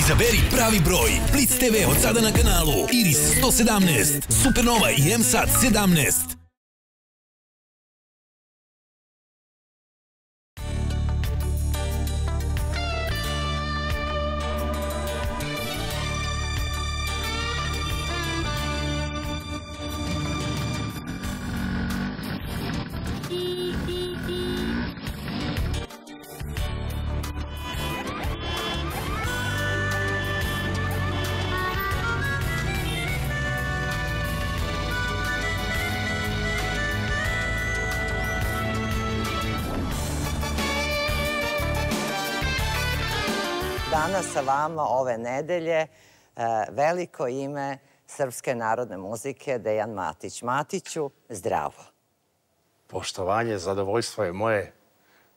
Izaberi pravi broj. Blitz TV od sada na kanalu. Iris 117, Supernova i MSAT 17. Danas sa vama ove nedelje veliko ime srpske narodne muzike Dejan Matić. Matiću, zdravo. Poštovanje, zadovoljstvo je moje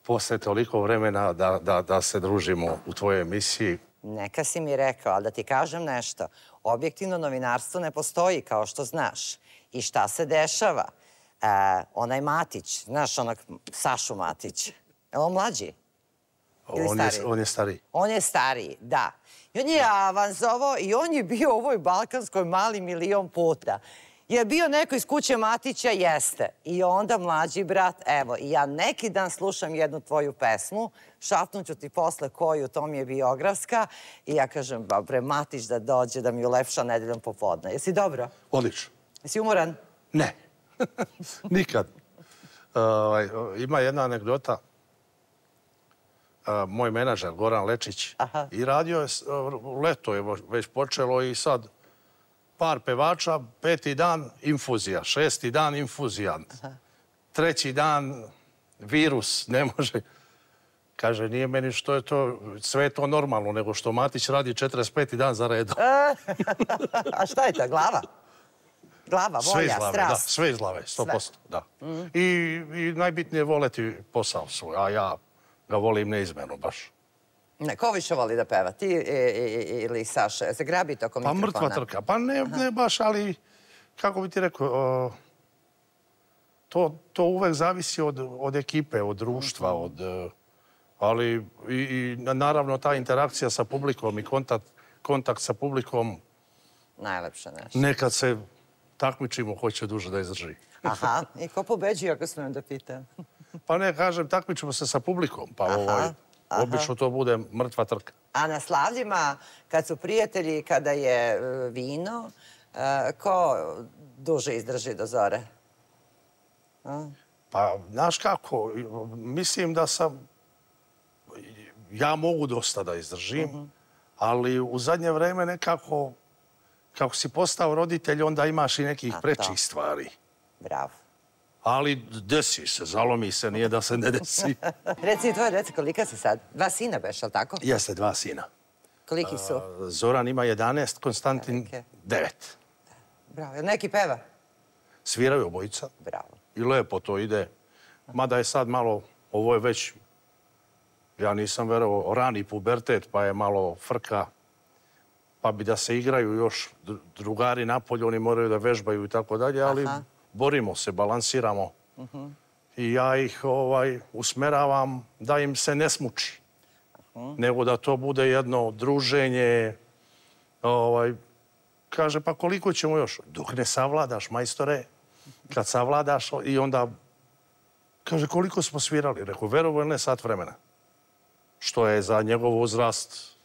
posle toliko vremena da se družimo u tvojoj emisiji. Neka si mi rekao, ali da ti kažem nešto. Objektivno novinarstvo ne postoji, kao što znaš. I šta se dešava? Onaj Matić, znaš onog Sašu Matić, je li on mlađi? On je stariji. On je stariji, da. I on je avanzovao i on je bio u ovoj Balkanskoj mali milion puta. Je bio neko iz kuće Matića? Jeste. I onda mlađi brat, evo, i ja neki dan slušam jednu tvoju pesmu, šapnuću ti posle koju, to mi je biografska, i ja kažem, bre, Matić da dođe da mi ulepša nedeljom popodne. Jesi dobro? Odlično. Jesi umoran? Ne. Nikad. Ima jedna anegdota. Moj menadžer, Goran Lečić, i radio je, leto je već počelo i sad par pevača, 5. dan infuzija, 6. dan infuzija, 3. dan virus, ne može. Kaže, nije meni što je to, sve je to normalno, nego što Matić radi 45. dan za redom. A šta je to, glava? Glava, volja, strast? Sve iz glave, 100%, da. I najbitnije je voleti posao svoj, a ja ga volim neizmjerno baš. Ko više voli da peva? Ti ili Saša? Se grabite oko mikrofona? Pa mrtva trka. Pa ne baš, ali kako bi ti rekao, to uvek zavisi od ekipe, od društva, ali i naravno ta interakcija sa publikom i kontakt sa publikom. Najlepše nešto. Nekad se takmičimo ko će duže da izdrži. Aha, i ko pobeđuje ako smijem da pitam? Pa ne, kažem, takmičimo se sa publikom, pa obično to bude mrtva trka. A na slavljima, kad su prijatelji, kada je vino, ko duže izdrži do zore? Pa, znaš kako, mislim da ja mogu dosta da izdržim, ali u zadnje vreme nekako, kako si postao roditelj, onda imaš i nekih prečih stvari. Bravo. Ali desi se, zalomi se, nije da se ne desi. Reci mi tvoje dece, kolika si sad? 2 sina beš, ali tako? Jeste, 2 sina. Koliki su? Zoran ima 11, Konstantin 9. Bravo. Jel neki peva? Sviraju obojica. Bravo. I lepo to ide. Mada je sad malo, ovo je već, ja nisam verovao, rani pubertet, pa je malo frka. Pa bi da se igraju još drugari napolje, oni moraju da vežbaju i tako dalje, ali borimo se, balansiramo. I ja ih usmeravam da im se ne smuči. Nego da to bude jedno druženje. Kaže, pa koliko ćemo još? Dok ne savladaš, majstore. Kad savladaš i onda... Kaže, koliko smo svirali? Rekao, verovo ili ne, sat vremena. Što je za njegov uzrast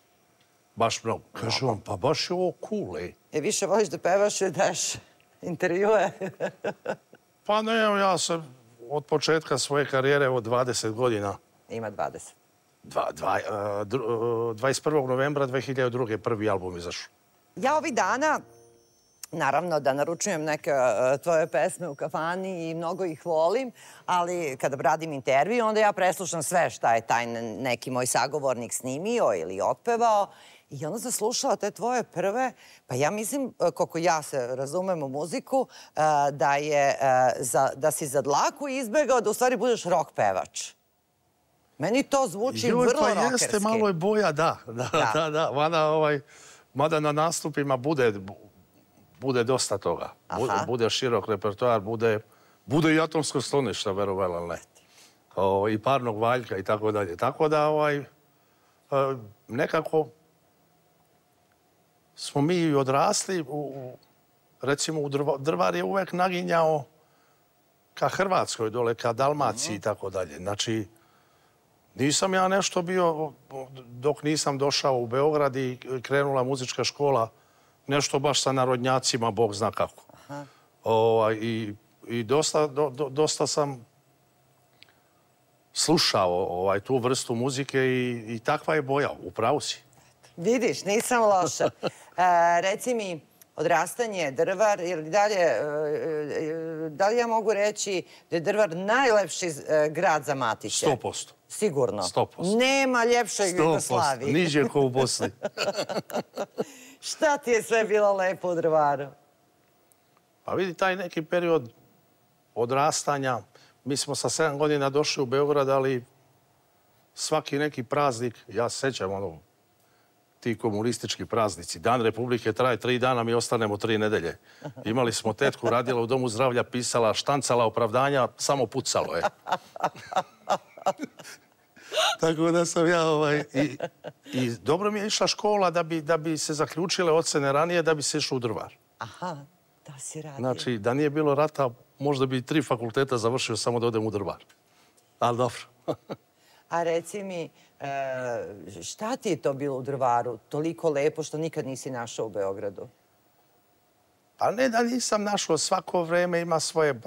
baš mnogo. Kaže on, pa baš je ovo cool, ej. Više voliš da pevaš i daš intervjue? Pa ne, ja sam od početka svoje karijere od 20 godina. Ima 20. 21. novembra 2002. prvi album izašao. Ja ovih dana, naravno da naručujem neke tvoje pesme u kafani i mnogo ih volim, ali kada radim intervju, onda ja preslušam sve šta je taj neki moj sagovornik snimio ili otpevao. I onda sam slušala te tvoje prve, pa ja mislim, koliko ja se razumem u muziku, da si za dlaku izbegao da u stvari budeš rock pevač. Meni to zvuči vrlo rockerski. Pa jeste, malo je boja, da. Mada na nastupima bude dosta toga. Bude širok repertoar, bude i atomsko skloništa, verovali ili ne. I parnog valjka i tako dalje. Tako da nekako smo mi odrasli, recimo Drvar je uvek naginjao ka Hrvatskoj dole, ka Dalmaciji i tako dalje. Znači, nisam ja nešto bio, dok nisam došao u Beograd i krenula muzička škola, nešto baš sa narodnjacima, Bog zna kako. I dosta sam slušao tu vrstu muzike i takva je boja, upravo si. Vidiš, nisam loša. Reci mi, odrastanje Drvar, da li ja mogu reći da je Drvar najlepši grad za Matiće? 100%. Sigurno? 100%. Nema ljepšeg Jugoslavije. 100%. Niđe ko u Bosni. Šta ti je sve bilo lepo u Drvaru? Pa vidi, taj neki period odrastanja, mi smo sa 7 godina došli u Beograd, ali svaki neki praznik, ja se sećam ti komunistički praznici. Dan Republike traje 3 dana, mi ostanemo 3 nedelje. Imali smo tetku, radila u domu zdravlja, pisala, štancala opravdanja, samo pucalo je. Tako da sam ja i dobro mi je išla škola da bi se zaključile ocene ranije, da bi se išlo u Drvar. Aha, da si radio. Znači, da nije bilo rata, možda bi 3 fakulteta završio samo da odem u Drvar. Ali dobro. A reci mi, šta ti je to bilo u Drvaru toliko lepo što nikad nisi našao u Beogradu? Pa ne da nisam našao, svako vreme ima svoje.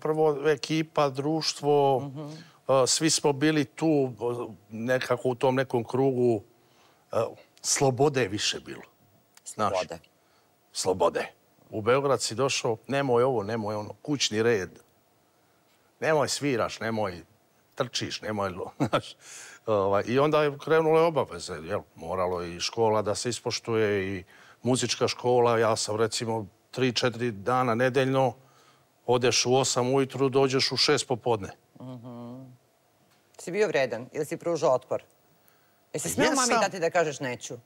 Prvo ekipa, društvo, svi smo bili tu nekako u tom nekom krugu. Slobode je više bilo. Slobode. Slobode. U Beograd si došao, nemoj ovo, nemoj ono, kućni red. Nemoj sviraš, nemoj trčiš, nemoj... I onda je krenule obaveze. Moralo i škola da se ispoštuje i muzička škola. Ja sam recimo 3-4 dana nedeljno, odeš u 8 ujutru, dođeš u 6 popodne. Si bio vredan ili si pružao otpor? Jesi smeo mami dati da kažeš neću?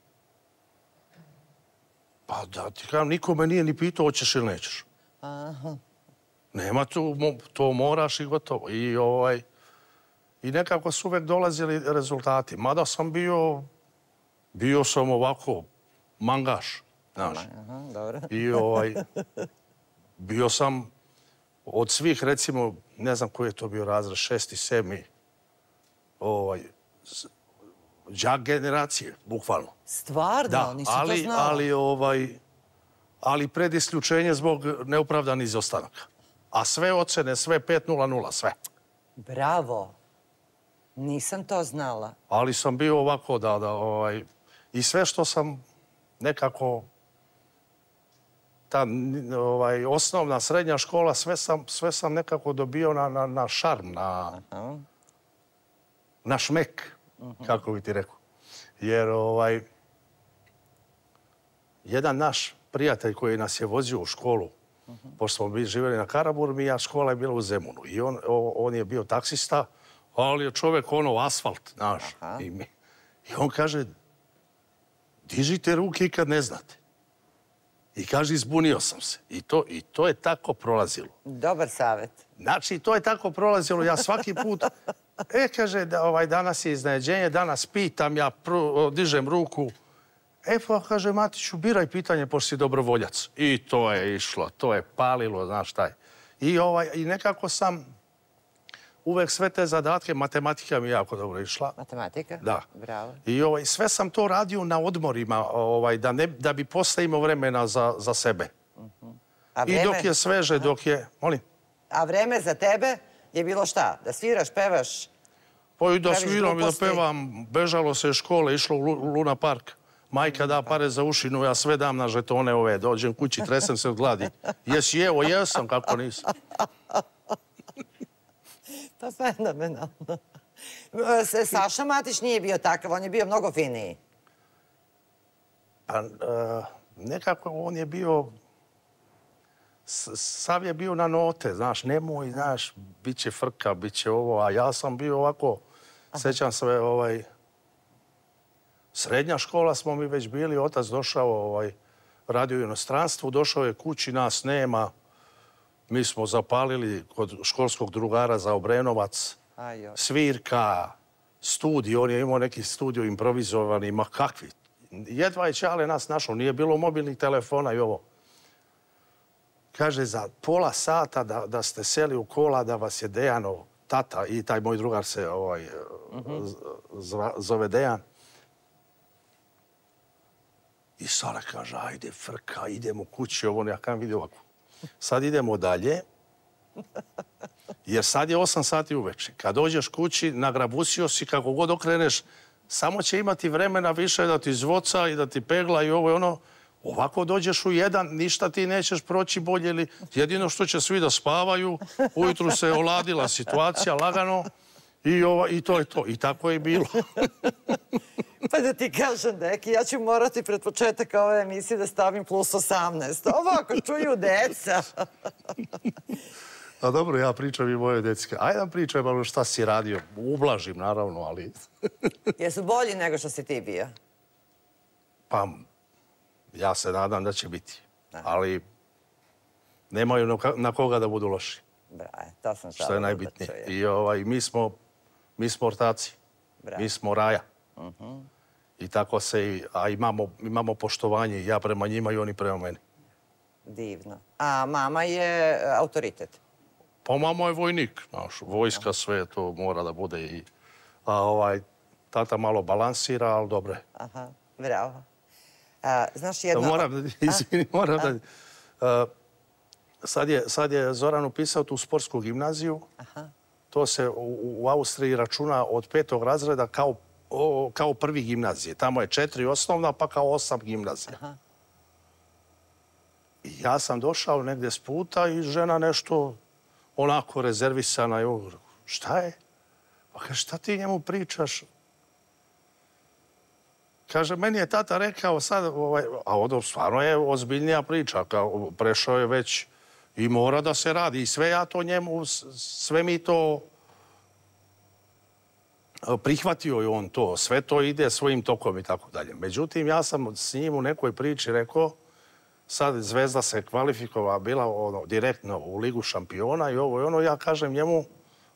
Pa da ti kažem, niko me nije ni pitao hoćeš ili nećeš. Nema tu, to moraš i gotovo. I nekako su uvek dolazili rezultati. Mada sam bio sam ovako mangaš, znaš. I bio sam od svih, recimo, ne znam koji je to bio razred, 6. 7. đak generacije, bukvalno. Stvarno? Nisam to znala. Ali pred isključenje zbog neopravdanih izostanaka. A sve ocene, sve 5-0-0, sve. Bravo. Nisam to znala. Ali sam bio ovako i sve što sam nekako ta osnovna, srednja škola, sve sam nekako dobio na šarm, na šmek, kako bi ti rekao. Jer jedan naš prijatelj koji nas je vozio u školu, pošto smo bili živjeli na Karaburmi, a škola je bila u Zemunu. I on je bio taksista, ali je čovjek asfalt, znaš. I on kaže, dižite ruke i kad ne znate. I kaže, izbunio sam se. I to je tako prolazilo. Dobar savjet. Znači, to je tako prolazilo. Ja svaki put, kaže, danas je iznenađenje, danas pitam, ja dižem ruku. Pa, kaže, Matiću, biraj pitanje, pošto si dobrovoljac. I to je išlo, to je palilo, znaš šta je. I nekako sam uvek sve te zadatke, matematika mi je jako dobro išla. Matematika? Da. Bravo. I sve sam to radio na odmorima, da bi posle imao vremena za sebe. I dok je sveže, dok je... Molim? A vreme za tebe je bilo šta? Da sviraš, pevaš? Pa i da sviram i da pevam. Bežalo se iz škole, išlo u Luna Park. Majka da pare za ušinu, ja sve dam na žetone ove. Dođem kući, tresem se od gladi. Jesi, evo, jesam, kako nisam. Pa fenomenalno. Saša Matić nije bio takav, on je bio mnogo finiji. Pa nekako on je bio... Sav je bio na note, znaš, nemoj, znaš, bit će frka, bit će ovo, a ja sam bio ovako, sećam se, srednja škola smo mi već bili, otac došao, radio u inostranstvu, došao je kući, nas nema, mi smo zapalili kod školskog drugara za Obrenovac, svirka, studij, on je imao neki studio improvizovani, ma kakvi, jedva je Ćale nas našao, nije bilo mobilnih telefona i ovo. Kaže, za pola sata da ste seli u kola, da vas je Dejanov tata i taj moj drugar se zove Dejan. I Sara kaže, ajde frka, idemo kući, ovo ja kam vidio ovako. Sad idemo dalje, jer sad je 8 sati uveče. Kad dođeš kući, nagrabusio si, kako god okreneš, samo će imati vremena više da ti zvoca i da ti pegla i ovo i ono. Ovako dođeš u 1, ništa ti nećeš proći bolje ili jedino što će svi da spavaju, ujutru se oladila situacija lagano i to je to. I tako je bilo. Pa da ti kažem, deki, ja ću morati pred početak ove emisije da stavim +18. Ovako čuju deca. A dobro, ja pričam i moje decke. Ajde nam pričaj malo šta si radio. Ublažim, naravno, ali... Jesu bolji nego što si ti bio? Pa, ja se nadam da će biti. Ali nemaju na koga da budu loši. To sam što je najbitnije. I mi smo ortaci. Mi smo raja. I tako se... A imamo poštovanje. Ja prema njima i oni prema meni. Divno. A mama je autoritet? Pa mama je vojnik. Vojska sve to mora da bude. A tata malo balansira, ali dobro je. Aha, bravo. Znaš jedno... Moram da... Sad je Zoran upisao tu sportsku gimnaziju. To se u Austriji računa od 5. razreda kao prvi gimnazije. Tamo je 4 osnovna, pa kao 8 gimnazija. I ja sam došao negdje s puta i žena nešto onako rezervisana. Šta je? Pa kaže, šta ti njemu pričaš? Kaže, meni je tata rekao sad, a ovo stvarno je ozbiljnija priča. Prešao je već i mora da se radi. I sve ja to njemu, sve mi to prihvatio je on to. Sve to ide svojim tokom i tako dalje. Međutim, ja sam s njim u nekoj priči rekao, sad Zvezda se kvalifikova bila direktno u Ligu šampiona i ovo i ono. Ja kažem njemu,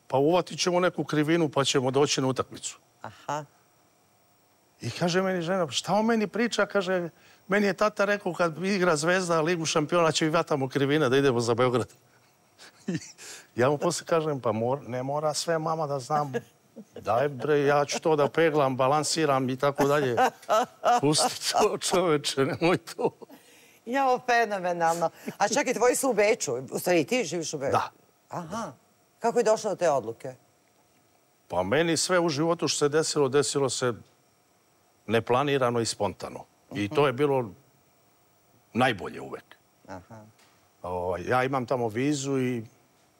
pa uvatit ćemo neku krivinu pa ćemo doći na utakmicu. Aha. I kaže meni žena, šta on meni priča? Kaže, meni je tata rekao kad igra Zvezda Ligu šampiona će i vatamo krivine da idemo za Beograd. Ja mu posle kažem, pa ne mora sve mama da znam. Daj bre, ja ću to da peglam, balansiram i tako dalje. Pusti to čoveče, nemoj to. Jao, fenomenalno. A čekaj, tvoji su u Beču. U stvari, ti živiš u Beču? Da. Aha. Kako je došlo do te odluke? Pa meni sve u životu što se desilo se neplanirano i spontano. I to je bilo najbolje uvek. Ja imam tamo vizu i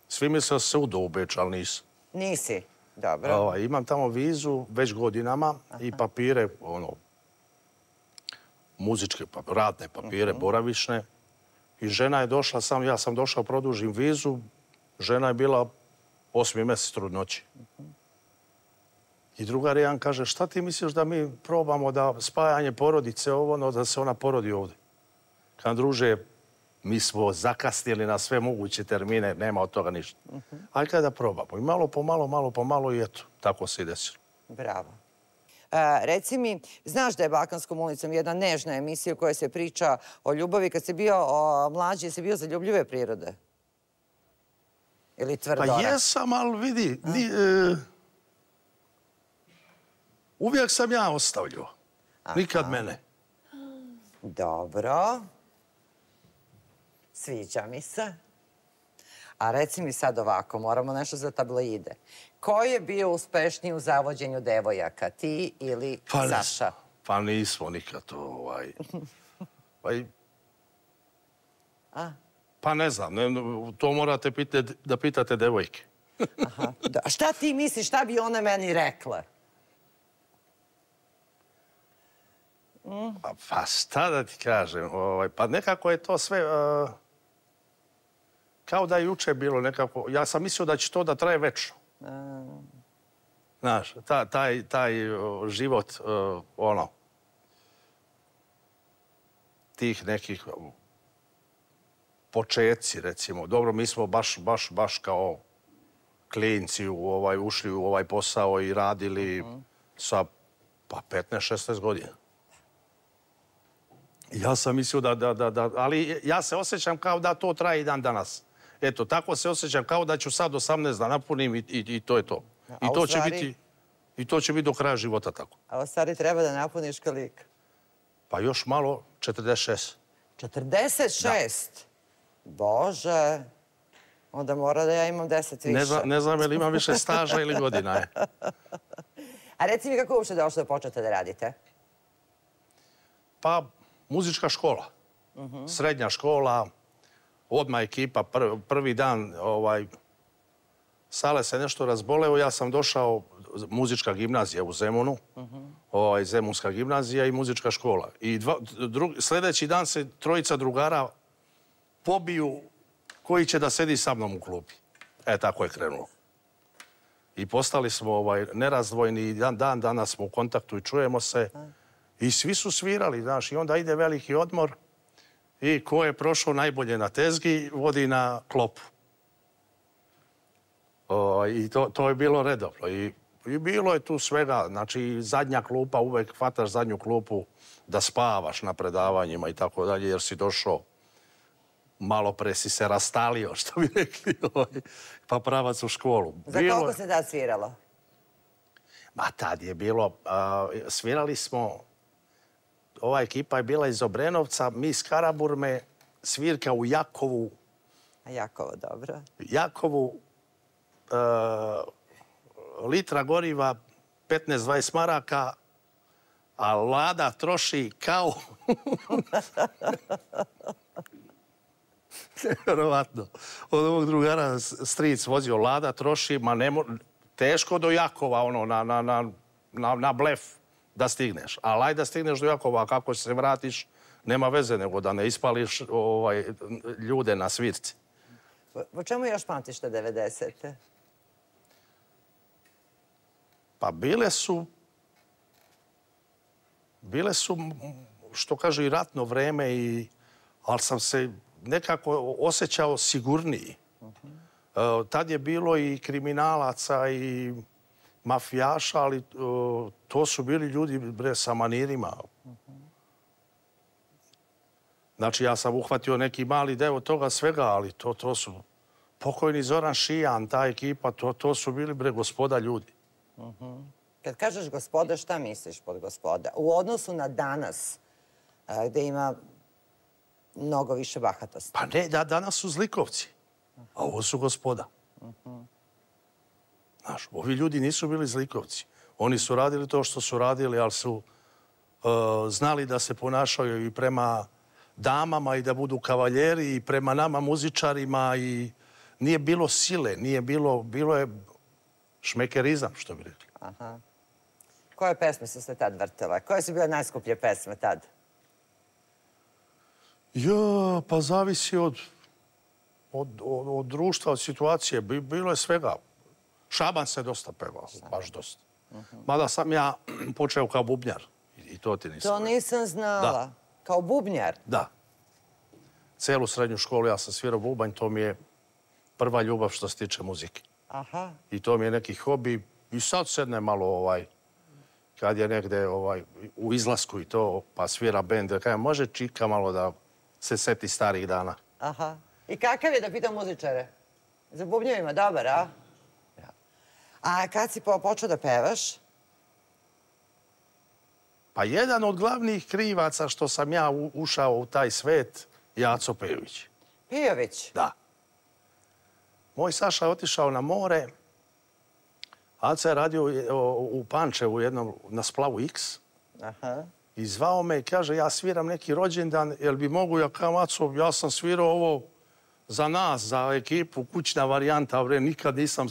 svi misle da se udao u Beč, ali nisam. Nisi? Dobro. Imam tamo vizu već godinama i papire, muzičke, radne papire, boravišne. I žena je došla, ja sam došao, produžim vizu. Žena je bila 8. mjesec trudnoći. I drugar jedan kaže, šta ti misliš da mi probamo da spajanje porodice da se ona porodi ovdje? Kad druže, mi smo zakasnili na sve moguće termine, nema od toga ništa. Ajde kada da probamo. I malo po malo i eto, tako se i desilo. Bravo. Reci mi, znaš da je Balkanskom ulicom jedna nežna emisija u kojoj se priča o ljubavi. Kad si bio mlađi, jesi bio zaljubljive prirode? Ili tvrdora? Pa jesam, ali vidi, uvijek sam ja ostavljao. Nikad mene. Dobro. Sviđa mi se. A reci mi sad ovako, moramo nešto za tabloide. Ko je bio uspešniji u zavođenju devojaka, ti ili Saša? Pa nismo nikad to, Pa ne znam, to morate da pitate devojke. A šta ti misliš, šta bi one meni rekle? Pa šta da ti kažem, pa nekako je to sve... Kao da je juče bilo nekako... Ja sam mislio da će to da traje večno. Znaš, taj život, tih nekih početci, recimo. Dobro, mi smo baš kao klinci ušli u ovaj posao i radili sa 15-16 godina. Ja sam mislio ali ja se osjećam kao da to traje i dan danas. Eto, tako se osjećam kao da ću sad 18 da napunim i to je to. I to će biti do kraja života tako. A u stvari treba da napuniš koliko? Pa još malo, 46. 46? Bože, onda mora da ja imam 10 više. Ne znam je li imam više staža ili godina je. A reci mi kako uopšte došlo da počnete da radite? Pa, muzička škola. Srednja škola, odmah ekipa, prvi dan, Sale se nešto razboleo, ja sam došao, muzička gimnazija u Zemunu, Zemunska gimnazija i muzička škola. I sljedeći dan se trojica drugara pobiju koji će da sedi sa mnom u klubi. Tako je krenulo. I postali smo nerazdvojni i dan danas smo u kontaktu i čujemo se. I svi su svirali, znaš, i onda ide veliki odmor i ko je prošao najbolje na tezgi, vodi na klopu. I to je bilo redovno. I bilo je tu svega, znači zadnja klupa, uvek hvataš zadnju klupu da spavaš na predavanjima i tako dalje, jer si došao, malo pre si se rastalio, što bi rekli, pa pravac u školu. Za koliko se tad sviralo? Ma tad je bilo, svirali smo, ova ekipa je bila iz Obrenovca, mi iz Karaburme, svirka u Jakovu. A Jakovo, dobro. Jakovu, litra goriva, 15-20 maraka, a Lada troši kao... Nevjerovatno. Od ovog drugara stric vozio Lada, troši, ma teško do Jakova, na blef da stigneš. Ali ajde da stigneš do Jakova, a kako se vratiš, nema veze nego da ne ispališ ljude na svirci. Po čemu još pamtiš te 90-te? Pa bile su, što kaže, i ratno vreme, ali sam se nekako osjećao sigurniji. Tad je bilo i kriminalaca i mafijaša, ali to su bili ljudi sa manirima. Znači, ja sam uhvatio neki mali deo toga svega, ali to su pokojni Zoran Šijan, ta ekipa, to su bili gospoda ljudi. Kad kažeš gospoda, šta misliš pod gospoda? U odnosu na danas, gde ima mnogo više bahatosti. Pa ne, danas su zlikovci, a ovo su gospoda. Znaš, ovi ljudi nisu bili zlikovci. Oni su radili to što su radili, ali su znali da se ponašaju i prema damama i da budu kavaljeri i prema nama muzičarima i nije bilo sile, bilo je šmekerizam, što bi rekli. Aha. Koje pesme su se tad vrtele? Koje su bile najskuplje pesme tad? Ja, pa zavisi od društva, od situacije. Bilo je svega. Šaban se dosta pevao, baš dosta. Mada sam ja počeo kao bubnjar. I to ti nisam. To nisam znala. Kao bubnjar? Da. Celu srednju školu ja sam svirao bubanj, to mi je prva ljubav što se tiče muzike. Aha. I to mi je neki hobi. I sad sedne malo kad je negde u izlasku i to, pa svira bend, da može čika malo da se seti starih dana. Aha. I kakav je, da pitam muzičare? Za bubnjevima, dobar, a? A kad si počeo da pevaš? Pa jedan od glavnih krivaca što sam ja ušao u taj svet je Aco Pejović. Pejović? Da. Moj Saša je otišao na more. Aca je radio u Pančevu na splavu X. Aha. I zvao me i kaže, ja sviram neki rođendan, jel bi mogu, ja kao Aco, ja sam svirao ovo za nas, za ekipu, kućna varijanta, nikad nisam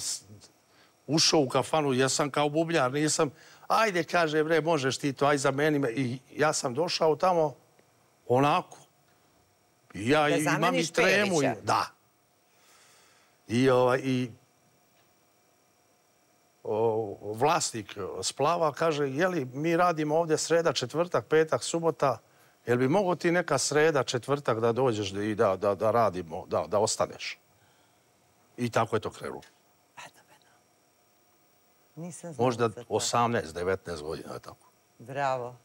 ušao u kafanu, ja sam kao bubnjar, nisam, ajde, kaže, možeš ti to, aj zameni me. I ja sam došao tamo onako. I ja imam i tremu. Da. I vlasnik splava kaže, jeli, mi radimo ovdje sreda, četvrtak, petak, subota, jel bi mogo ti neka sreda, četvrtak da dođeš i da radimo, da ostaneš? I tako je to krenulo. Nisam znala možda za to. 18, 19 godina je tako. Bravo.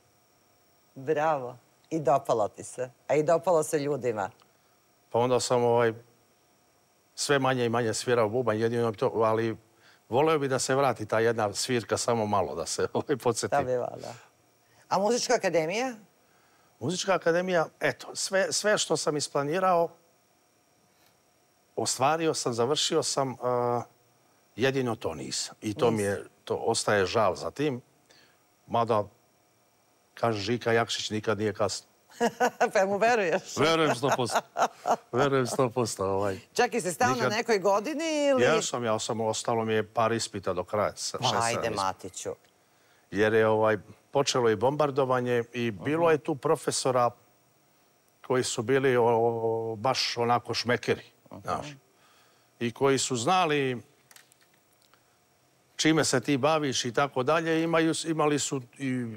Bravo. I dopalo ti se. A i dopalo se ljudima. Pa onda sam sve manje i manje svirao bubanj, jedino to, ali voleo bi da se vrati ta jedna svirka samo malo, da se podsjeti. Da bi da. A muzička akademija? Muzička akademija, eto, sve što sam isplanirao, ostvario sam, završio sam, jedino to nisam. I to ostaje žal za tim. Mada, kaže Žika Jakšić, nikad nije kasno. Pa mu veruješ? Verujem 100%. Verujem 100%. Čak i si stao na nekoj godini ili... Ja sam, ostalo mi je par ispita do kraja. Pa ajde, Matiću. Jer je počelo i bombardovanje i bilo je tu profesora koji su bili baš onako šmekeri, znaš. I koji su znali čime se ti baviš i tako dalje. Imali su i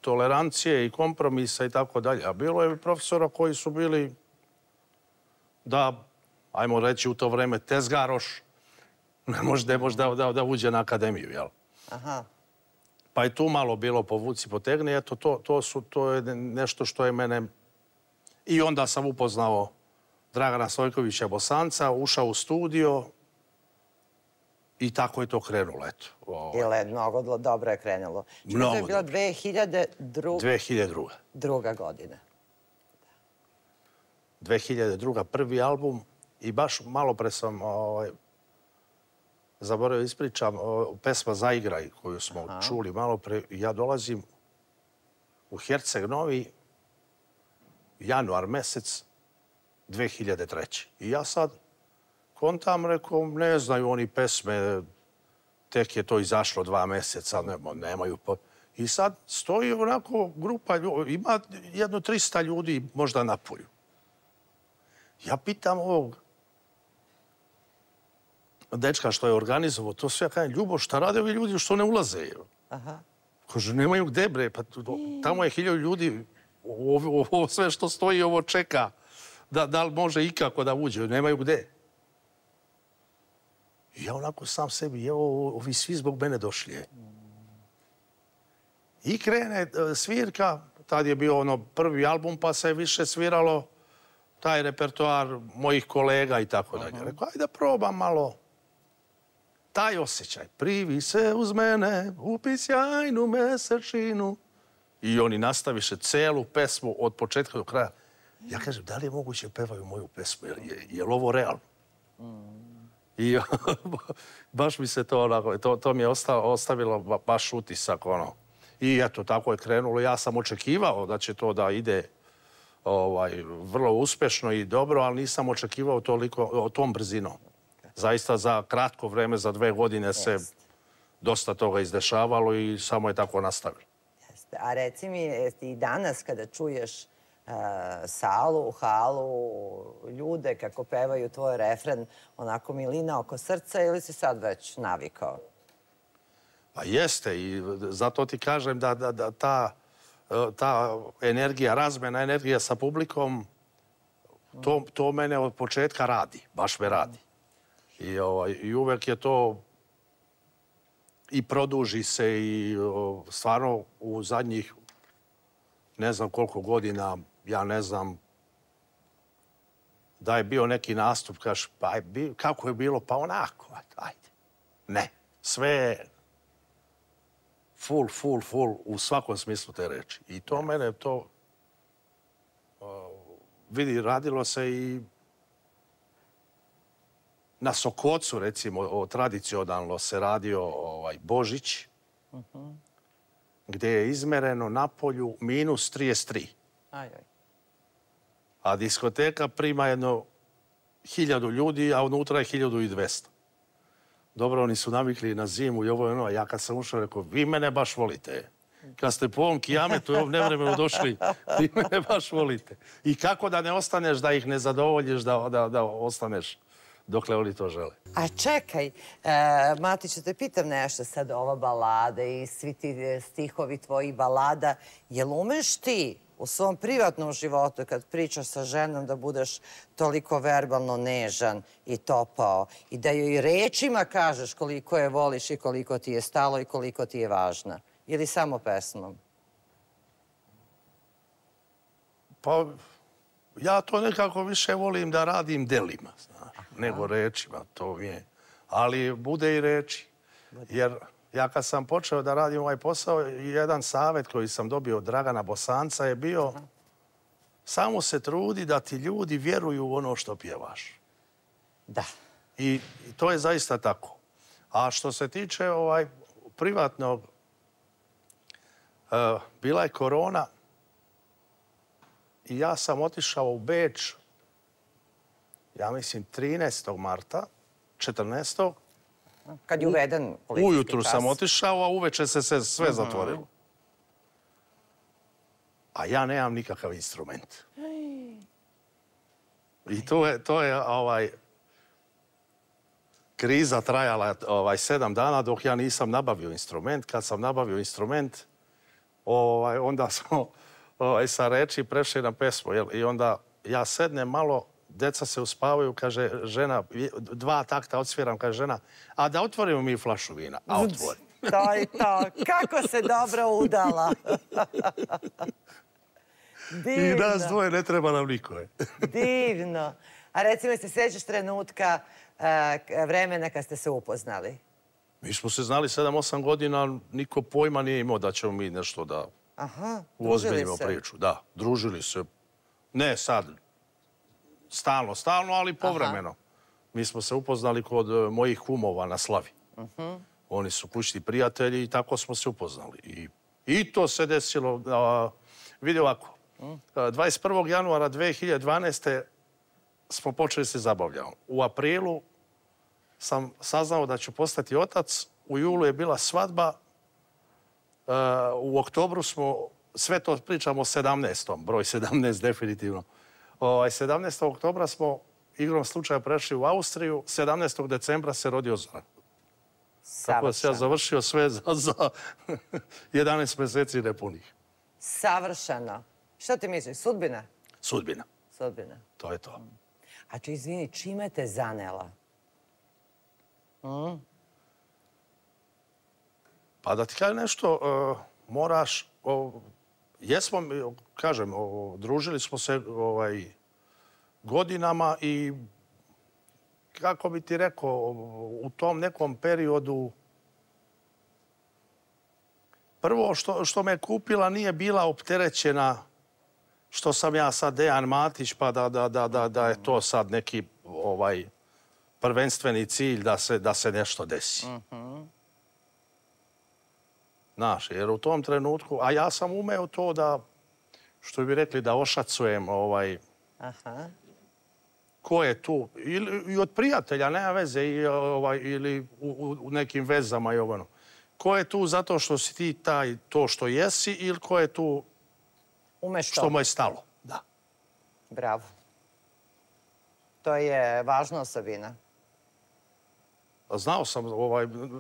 tolerancije i kompromisa i tako dalje. A bilo je profesora koji su bili da, ajmo reći u to vreme, tezgaroš, ne može da uđe na akademiju, jel? Aha. Pa je tu malo bilo povuci potegni. Eto, to je nešto što je mene... I onda sam upoznao Dragana Stojkovića Bosanca, ušao u studio i tako je to krenulo, eto. Ili mnogo dobro je krenulo. Mnogo dobro. To je bila 2002. Druga godina. 2002. prvi album i baš malo pre sam zaboravio ispričam pesma Zaigraj koju smo čuli malo pre. Ja dolazim u Herceg Novi januar mesec 2003. I ja sad kontam, rekao, ne znaju oni pesme, tek je to izašlo 2 meseca, nemaju... I sad stoji onako grupa ljudi, ima jedno 300 ljudi možda na polju. Ja pitam ovog dečka što je organizovao, to sve ja kažem, Ljubo, šta rade ovi ljudi što ne ulaze? Kaže, nemaju gde, bre, pa tamo je 1000 ljudi, ovo sve što stoji, ovo čeka, da li može ikako da uđe, nemaju gde. I ja onako sam sebi, evo, ovi svi zbog mene došli. I krene svirka, tad je bio prvi album, pa se više sviralo taj repertoar mojih kolega i tako dalje. Rekao, ajde probam malo taj osjećaj. Privi se uz mene, upi sjajnu mesečinu. I oni nastaviše celu pesmu od početka do kraja. Ja kažem, da li je moguće pevaju moju pesmu? Je li ovo realno? I baš mi se to mi je ostavilo baš utisak, I eto, tako je krenulo. Ja sam očekivao da će to da ide vrlo uspešno i dobro, ali nisam očekivao toliko tom brzinom. Zaista za kratko vreme, za 2 godine se dosta toga izdešavalo i samo je tako nastavilo. A reci mi, i danas kada čuješ salu, halu, ljude kako pevaju tvoj refren, onako milina oko srca, ili si sad već navikao? Pa jeste i zato ti kažem da ta energija, razmena energija sa publikom, to mene od početka radi, baš me radi. I uvek je to i produži se i stvarno u zadnjih ne znam koliko godina, ja ne znam da je bio neki nastup, kažeš, pa kako je bilo, pa onako, ajde. Ne, sve je full u svakom smislu te reči. I to mene, vidi, radilo se i na Sokocu, recimo, tradicionalno se radio Božić, gde je izmereno na polju -33. A diskoteka prima jedno 1000 ljudi, a unutra je 1200. Dobro, oni su navikli na zimu i ovo je ono. Ja kad sam ušao, rekao, vi mene baš volite. Kad ste po ovom kijametu i ovom nevremenu došli, vi mene baš volite. I kako da ne ostaneš, da ih ne zadovoljiš, da ostaneš dokle oni to žele. A čekaj, Matiću, te pitam nešto sad, ova balada i svi ti stihovi tvojih balada, jel umeš ti u svom privatnom životu, kad pričaš sa ženom, da budeš toliko verbalno nežan i topao i da joj rečima kažeš koliko je voliš i koliko ti je stalo i koliko ti je važna? Ili samo pesmom? Pa, ja to nekako više volim da radim delima, znaš, nego rečima, to mi je. Ali bude i reči. Jer ja kad sam počeo da radim ovaj posao, jedan savjet koji sam dobio od Dragana Bosanca je bio samo se trudi da ti ljudi vjeruju u ono što pjevaš. Da. I to je zaista tako. A što se tiče privatnog, bila je korona i ja sam otišao u Beč, ja mislim 13. marta, 14. Kad je uveden policijski Ujutru sam otišao, a uveče se sve zatvorilo. A ja nemam nikakav instrument. I to je kriza trajala 7 dana dok ja nisam nabavio instrument. Kad sam nabavio instrument, onda smo sa reči prešli na pesmu. I onda ja sednem malo, deca se uspavaju, kaže žena, 2 takta odsviram, kaže žena, a da otvorimo mi flašu vina. A otvori. To je to. Kako se dobro udala. Divno. I nas dvoje ne treba nam niko. Divno. A recimo, se sjećaš trenutka, vremena kad ste se upoznali? Mi smo se znali 7-8 godina, niko pojma nije imao da ćemo mi nešto da uozbiljimo priču. Da, družili se. Ne sad, stalno, ali povremeno. Mi smo se upoznali kod mojih kumova na Slavi. Oni su kućni prijatelji i tako smo se upoznali. I to se desilo, vidi ovako, 21. januara 2012. smo počeli se zabavljati. U aprilu sam saznao da ću postati otac, u julu je bila svadba, u oktobru smo, sve to pričamo o 17. broj 17 definitivno. 17. oktobra smo igrom slučaja prešli u Austriju, 17. decembra se rodio Zoran. Tako da se ja završio sve za 11 mjeseci nepunih. Savršeno. Što ti misliš, sudbina? Sudbina. Sudbina. To je to. A izvini, čime te zanela? Pa da ti kažem nešto, moraš, jesmo, kažem, družili smo se godinama i kako bi ti rekao, u tom nekom periodu prvo što me kupila nije bila opterećena što sam ja sad Dejan Matić pa da je to sad neki prvenstveni cilj da se nešto desi. Znaš, jer u tom trenutku, a ja sam umeo to da, što bi rekli, da ošacujem ko je tu, i od prijatelja, nema veze, ili u nekim vezama i ono. Ko je tu zato što si ti to što jesi ili ko je tu što mu je stalo. Da. Bravo. To je važna osobina. Znao sam,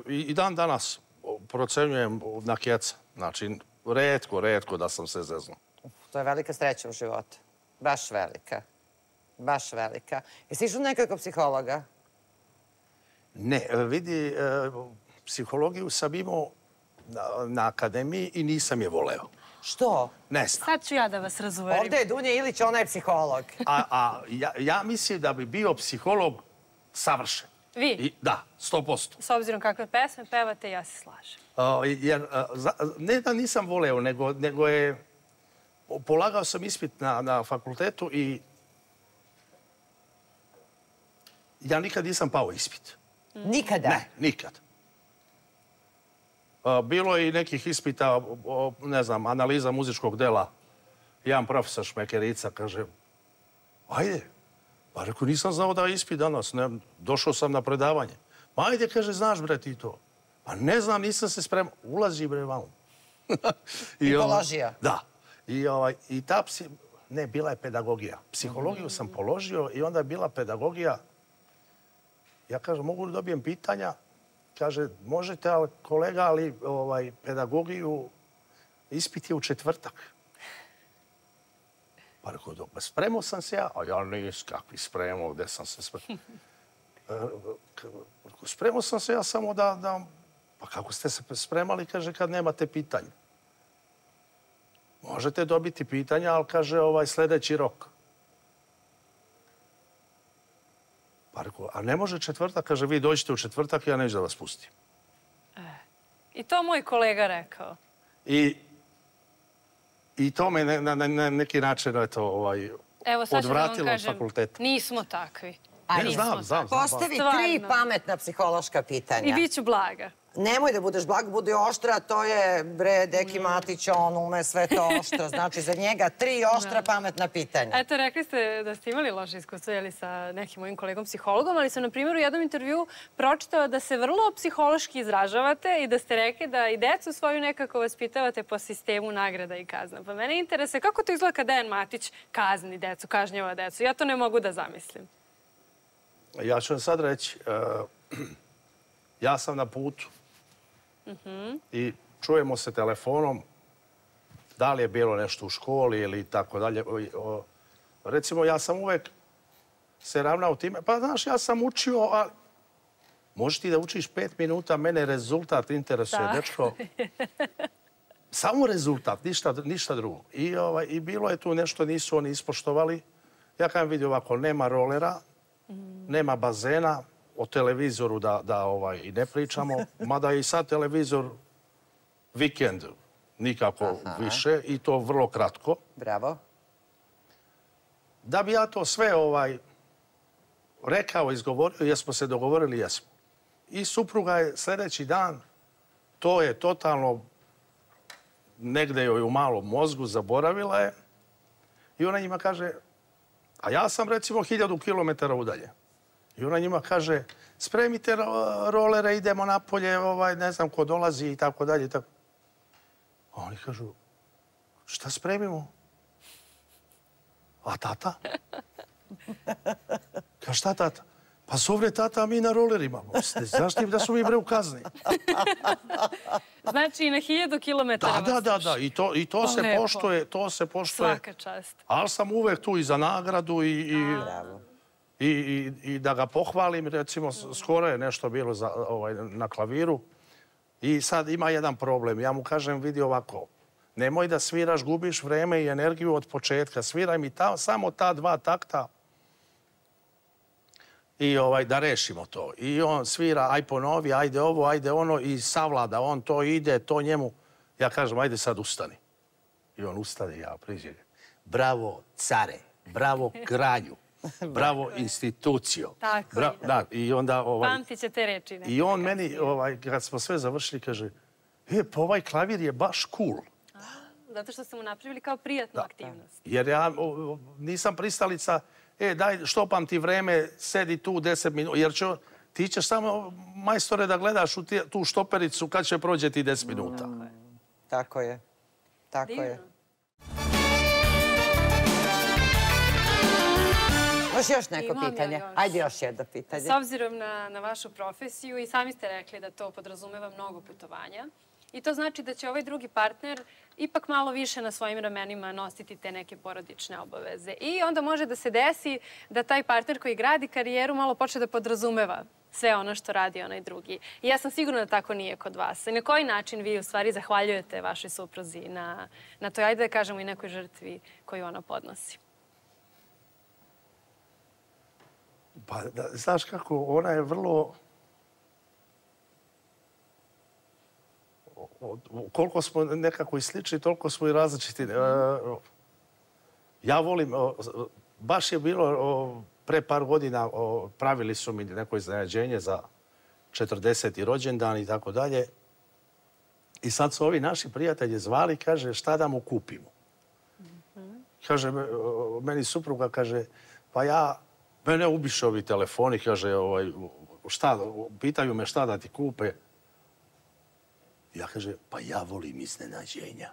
i dan danas procenjujem na keca. Znači, retko da sam se zeznuo. To je velika sreća u životu. Baš velika. Baš velika. Jesi išao nekako psihologa? Ne, vidi, psihologiju sam imao na akademiji i nisam je voleo. Što? Ne znam. Sad ću ja da vas razuverim. Ovdje je Dunja Ilić, ona je psiholog. Ja mislim da bi bio psiholog savršen. Vi? Da, 100%. S obzirom kakve pesme pevate, ja se slažem. Jer, ne da nisam voleo, nego je... Polagao sam ispit na fakultetu i ja nikad nisam pao ispit. Nikada? Ne, nikad. Bilo je i nekih ispita, ne znam, analiza muzičkog dela. Jedan profesor Šmekerica kaže, ajde, pa rekao, nisam znao da je ispit danas, došao sam na predavanje. Ma ajde, kaže, znaš bre ti to. Pa ne znam, nisam se spremao. Ulazi bre vamo. I položio? Da. I ta ne, bila je pedagogija. Psihologiju sam položio i onda je bila pedagogija. Ja kažem, mogu li dobijem pitanja? Kaže, možete, kolega, ali pedagogiju ispit je u četvrtak. Pa rekao, spremao sam se ja, a ja nis kakvi spremao, gde sam se spremao. Spremao sam se ja samo da... Pa kako ste se spremali, kaže, kad nemate pitanja? možete dobiti pitanja, ali kaže sljedeći rok. Pa rekao, a ne može četvrtak? Kaže, vi dođete u četvrtak i ja neću da vas pustim. I to moj kolega rekao. I to me na neki način Evo, sad ću da vam odvratilo od kažem, fakulteta. nismo takvi. Ne, znam. Postavi 3 pametna psihološka pitanja. I bit ću blaga. Nemoj da budeš blag, budi oštra, to je, Deki Matić, on ume sve to oštro. Znači, za njega 3 oštra pametna pitanja. Eto, rekli ste da ste imali loše iskustvo sa nekim mojim kolegom psihologom, ali sam, na primjer, u jednom intervju pročitala da se vrlo psihološki izražavate i da ste rekli da i decu svoju nekako vaspitavate po sistemu nagrada i kazna. Pa mene interesuje kako to izgleda kad Dejan Matić kazni decu, kažnjava decu. Ja to ne mogu da zamislim. Ja ću vam sad reći, ja sam na putu i čujemo se telefonom, da li je bilo nešto u školi ili tako dalje. Recimo, ja sam uvek se ravnao time, pa znaš, ja sam učio, ali možeš ti da učiš 5 minuta, mene rezultat interesuje, dečko. Samo rezultat, ništa drugo. I bilo je tu nešto, nisu oni ispoštovali. Ja kažem, vidi ovako, nema rolera, nema bazena, o televizoru da i ne pričamo, mada je i sad televizor vikend nikako više i to vrlo kratko. Bravo. Da bi ja to sve rekao, izgovorio, jesmo se dogovorili, jesmo. I supruga je sljedeći dan, to je totalno negde joj u malom mozgu, zaboravila je i ona njima kaže, a ja sam recimo 1000 kilometara udalje. I ona njima kaže, spremite rolere, idemo napolje, ne znam ko dolazi i tako dalje. A oni kažu, šta spremimo? A tata? Kaže, šta tata? Pa zovre tata, a mi na rolerima. Znaš ti da su mi bre u kazni? Znači i na 1000 kilometara vas sluša. Da. I to se poštuje. Svaka čast. Ali sam uvek tu i za nagradu i da ga pohvalim. Recimo, skoro je nešto bilo na klaviru. I sad ima jedan problem. Ja mu kažem, vidi ovako, nemoj da sviraš, gubiš vreme i energiju od početka. Sviraj mi samo ta 2 takta i da rešimo to. I on svira, aj ponovi, ajde ovo, ajde ono i savlada. On to ide, to njemu. Ja kažem, ajde sad ustani. I on ustane, ja priđem. Bravo, care. Bravo, kralju. Bravo, institucijo. Tako je. Da, i onda... Pamtit će te reči. I on meni, kad smo sve završili, kaže, pa ovaj klavir je baš cool. Zato što ste mu napravili kao prijatnu aktivnost. Jer ja nisam pristalica, daj, štopam ti vreme, sedi tu 10 minuta, jer ti ćeš samo, majstore, da gledaš u tu štopericu kad će prođe ti 10 minuta. Tako je. Tako je. Možeš još neko pitanje? Ajde još jedno pitanje. S obzirom na vašu profesiju i sami ste rekli da to podrazumeva mnogo putovanja. I to znači da će ovaj drugi partner ipak malo više na svojim ramenima nositi te neke porodične obaveze. I onda može da se desi da taj partner koji gradi karijeru malo počne da podrazumeva sve ono što radi onaj drugi. I ja sam sigurna da tako nije kod vas. I na koji način vi u stvari zahvaljujete vašoj supruzi na toj, ajde da kažemo, i nekoj žrtvi koju ona podnosi? Pa, znaš kako, ona je vrlo... Koliko smo nekako i slični, toliko smo i različiti. Ja volim, baš je bilo pre par godina, pravili su mi neko iznenađenje za 40. rođendan i tako dalje. I sad su ovi naši prijatelji zvali, kaže, šta da mu kupimo? Kaže, meni supruga, kaže, pa mene ubiše ovi telefoni, kaže, pitaju me šta da ti kupe. Ja kaže, pa ja volim iznenađenja.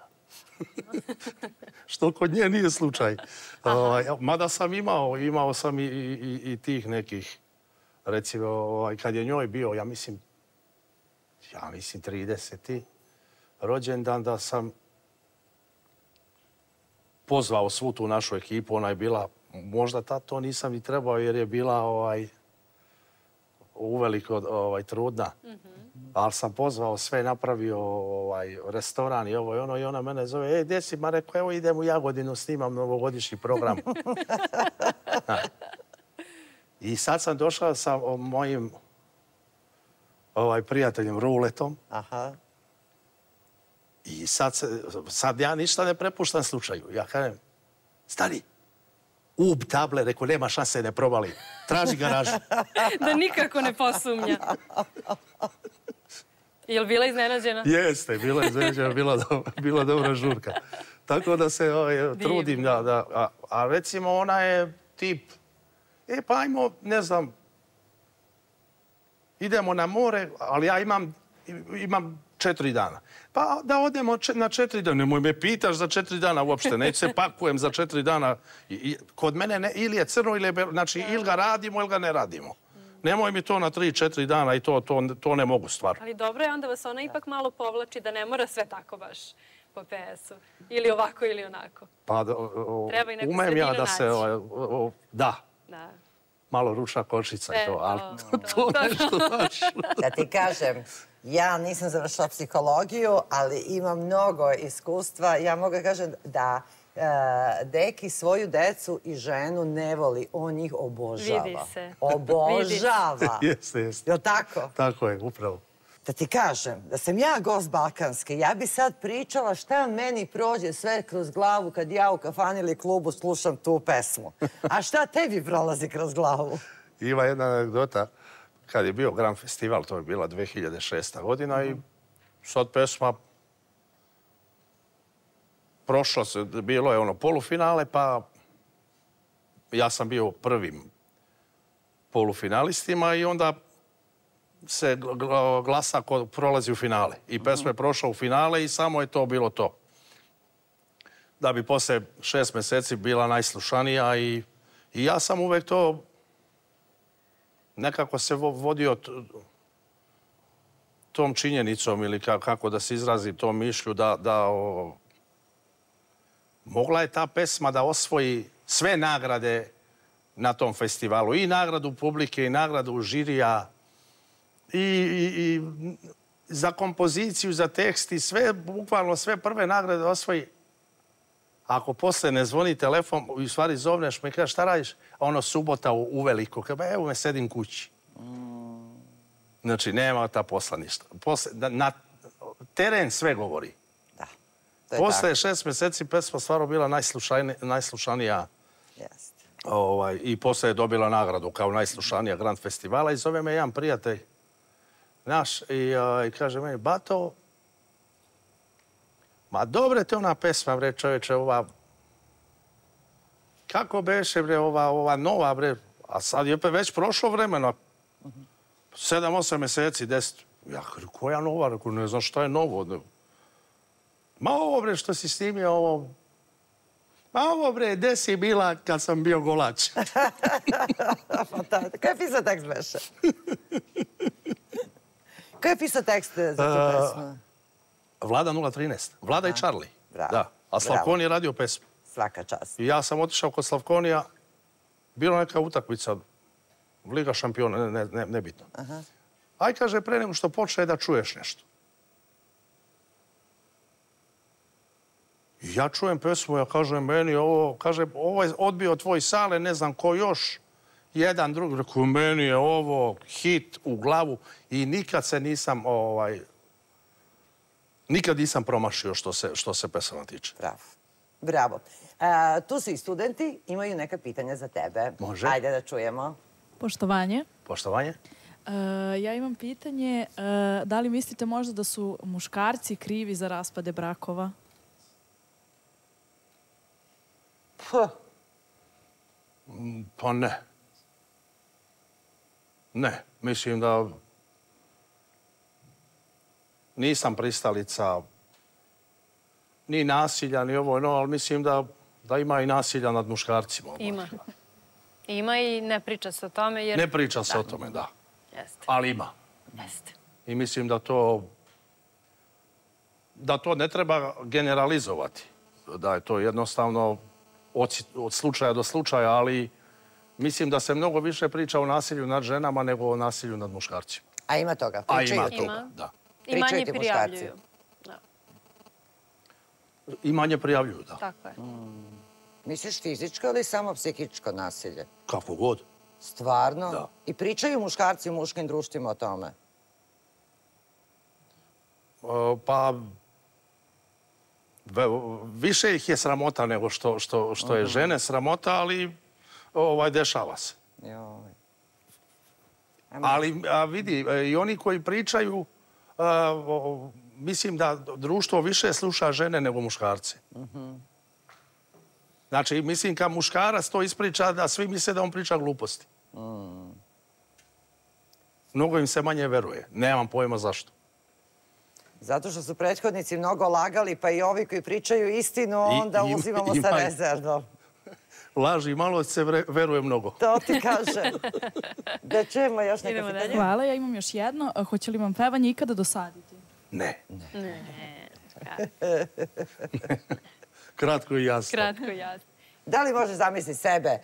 Što kod nje nije slučaj. Mada sam imao sam i tih nekih, recimo, kad je njoj bio, ja mislim 30. rođendan, da sam pozvao svu tu našu ekipu. Ona je bila, možda tad to nisam i trebao, jer je bila uveliko trudna. Ali sam pozvao sve, napravio restoran i ovo i ono i ona mene zove, gdje si? Ma rekao, evo idem u Jagodinu, snimam novogodišnji program. I sad sam došao sa mojim prijateljem Ruletom. I sad ja ništa ne prepuštam slučaju. Ja kažem, stani, ub table, rekao, nema šanse, ne probali. Traži garažu. Da nikako ne posumnja. Je li bila iznenađena? Jeste, bila iznenađena, bila dobra žurka. Tako da se trudim. A recimo ona je tip, pa ajmo, ne znam, idemo na more, ali ja imam 4 dana. Pa da odemo na 4 dana. Nemoj me pitaš za 4 dana uopšte. Neću se pakujem za 4 dana. Kod mene ili je crno ili je belo. Znači, ili ga radimo ili ga ne radimo. Nemoj mi to na 3-4 dana i to ne mogu stvarno. Ali dobro je, onda vas ona ipak malo povlači da ne mora sve tako baš po PS-u. Ili ovako ili onako. Pa umem ja da se... Da. Malo ručna kočica i to, ali to nešto znaš. Da ti kažem, ja nisam završila psihologiju, ali imam mnogo iskustva. Ja mogu kažem da deki svoju decu i ženu ne voli, on njih obožava. Vidi se. Obožava. Jeste. Je li tako? Tako je, upravo. Da ti kažem, da sam ja gost Balkanske, ja bi sad pričala šta meni prođe sve kroz glavu kad ja u kafani ili klubu slušam tu pesmu. A šta tebi prolazi kroz glavu? Ima jedna anegdota. Kad je bio Grand Festival, to je bila 2006. godina i sad pesma prošla se, bilo je polufinale, pa ja sam bio prvim polufinalistima i onda se glasa ko prolazi u finale. I pesma je prošla u finale i samo je to bilo to. Da bi posle 6 meseci bila najslušanija i ja sam uvek to nekako se vodio tom činjenicom ili kako da se izrazi tom mišlju da mogla je ta pesma da osvoji sve nagrade na tom festivalu. I nagradu publike, i nagradu žirija, i za kompoziciju, za tekst, i sve, bukvalno sve prve nagrade osvoji. Ako posle ne zvoni telefon, u stvari zovneš me i kažeš šta radiš, a subota uveliko, evo me sedim kući. Znači, nema ta posla ništa. Na teren sve govori. Posle 6 meseci pesma stvarno bila najslušanija i posle je dobila nagradu kao najslušanija Grand Festivala i zove me jedan prijatelj naš i kaže meni, Bato, ma dobre te ona pesma, bre, čoveče, ova, kako beše, bre, ova nova, bre, a sad je već prošlo vremena, 7-8 meseci, 10. Ja kažem, koja nova? Rekao, ne znam šta je novo. Ma ovo, bre, što si snimio, ovo... Ma ovo, bre, gde si bila kad sam bio golač? Ko je pisao tekst, beše? Ko je pisao tekst za tu pesmu? Vlada 013. Vlada i Charlie. Da. A Slavkoni je radio pesmu. Svaka čast. I ja sam otišao kod Slavkonija. Bila neka utakmica, Liga šampiona, nebitno. Aj, kaže, pre nego što počne da čuješ nešto. Ja čujem pesmu, ja kažem, meni ovo, kaže, ovo je odbio tvoj Sale, ne znam ko još, jedan drugi, rekao, meni je ovo hit u glavu i nikad se nisam, nikad nisam promašio što se pesama tiče. Bravo. Bravo. Tu su i studenti, imaju neka pitanja za tebe. Može. Ajde da čujemo. Poštovanje. Poštovanje. Ja imam pitanje, da li mislite možda da su muškarci krivi za raspade brakova? Pa ne. Ne, mislim da nisam pristalica ni nasilja, ni ovo, ali mislim da ima i nasilja nad muškarcima. Ima. Ima i ne priča se o tome jer... Ne priča se o tome, da. Jeste. Ali ima. Jeste. I mislim da to ne treba generalizovati. Da je to jednostavno od slučaja do slučaja, ali mislim da se mnogo više priča o nasilju nad ženama nego o nasilju nad muškarcima. A ima toga? A Pričaju ima ti? toga, da. I manje Pričaju ti muškarci? prijavljuju. Da, I manje prijavljuju, da. tako je. Misliš fizičko ili samo psihičko nasilje? Kako god. Stvarno? Da. I pričaju muškarci u muškim društvima o tome? Pa, više ih je sramota nego što je žene sramota, ali dešava se. Joj. Ali vidi, i oni koji pričaju, mislim da društvo više sluša žene nego muškarce. Znači, mislim, kad muškarac to ispriča, da svi misle da on priča gluposti. Mnogo im se manje veruje. Nemam pojma zašto. Zato što su prethodnici mnogo lagali, pa i ovi koji pričaju istinu, onda uzimamo sa rezervom. Laži, malo se veruje mnogo. To ti kažem. Da čujemo još neka Idemo pitanja. dalje. Hvala, ja imam još jedno. Hoće li vam pevanje ikada dosaditi? Ne. Ne, Kratko i jasno. kratko i jasno. Da li možeš zamisliti sebe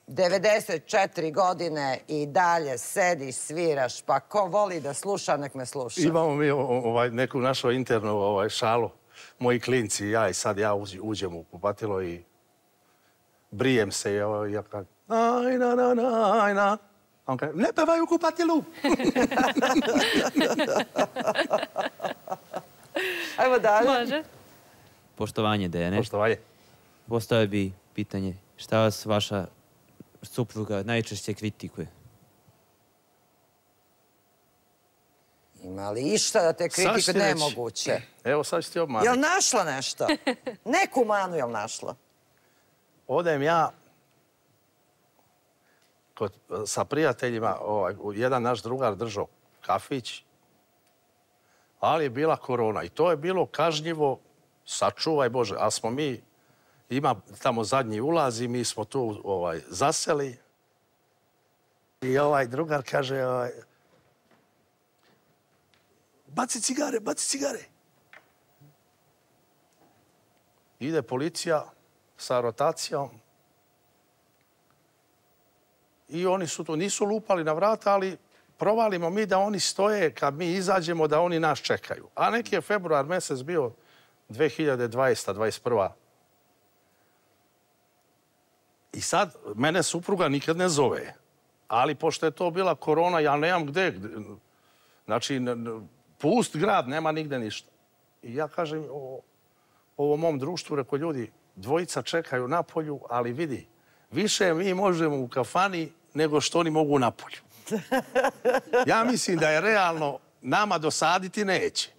94 godine i dalje sediš, sviraš, pa ko voli da sluša, nek me sluša. Imamo mi neku našu internu šalu. Moji klinci i ja, i sad ja uđem u kupatilo i brijem se. Ja kažem, ajna. On kaže, ne pevaj u kupatilu. Ajmo dalje. Može. Poštovanje, Dejane. Poštovanje. Postavio bi pitanje, šta vas vaša supruga najčešće kritikuje? Ima li išta da te Sad ću kritikuje? ti reći. Nemoguće. Evo, sad ću ti obmaniti. Jel našla nešto? Neku manu jel našla? Odem ja sa prijateljima, jedan naš drugar držao kafić, ali je bila korona i to je bilo kažnjivo, sačuvaj Bože, ali smo mi, ima tamo zadnji ulaz i mi smo tu zaseli i drugar kaže, baci cigare. Ide policija sa rotacijom i oni su tu, nisu lupali na vrata, ali provalimo mi da oni stoje kad mi izađemo, da oni nas čekaju. A neki je februar mjesec bio 2020. 2021. I sad, mene supruga nikad ne zove. Ali pošto je to bila korona, ja nemam gde. Znači, pust grad, nema nigde ništa. I ja kažem ovom mom društvu, reko ljudi, dvojica čekaju na polju, ali vidi, više mi možemo u kafani nego što oni mogu na polju. Ja mislim da je realno nama dosaditi neće.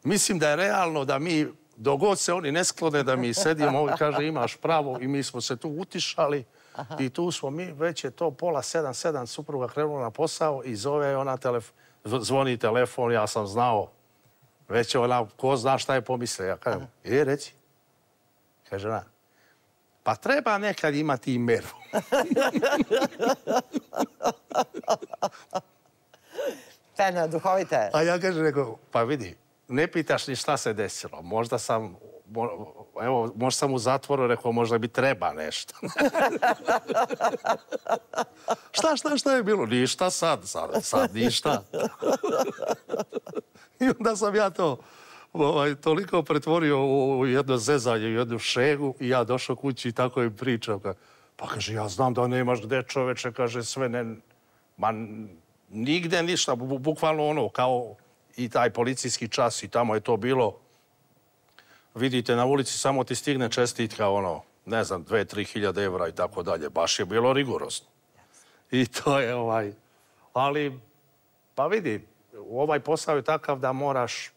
Mislim da je realno da mi, dok god se oni ne sklone, da mi sedimo i kaže imaš pravo i mi smo se tu utišali i tu smo mi, već je to 6:30, supruga krenula na posao i zove ona zvoni telefon, ja sam znao, već je ona, ko zna šta je pomislio. Ja kažem, reci. Kaže ona, pa treba nekad imati i meru. Fena, duhovite. A ja kažem, pa vidi, ne pitaš ni šta se desilo. Možda sam u zatvoru, rekao, možda bi treba nešto. Šta je bilo? Ništa sad ništa. I onda sam ja to toliko pretvorio u jedno zezanje, u jednu šegu i ja došao kući i tako im pričam. Pa kaže, ja znam da nemaš gde, čoveče, kaže, sve ne... Ma, nigde ništa, bukvalno kao i taj policijski čas i tamo je to bilo. Vidite, na ulici samo ti stigne čestitka, ne znam, 2-3 hiljade evra i tako dalje. Baš je bilo rigorozno. I to je ali, pa vidi, ovaj posao je takav da moraš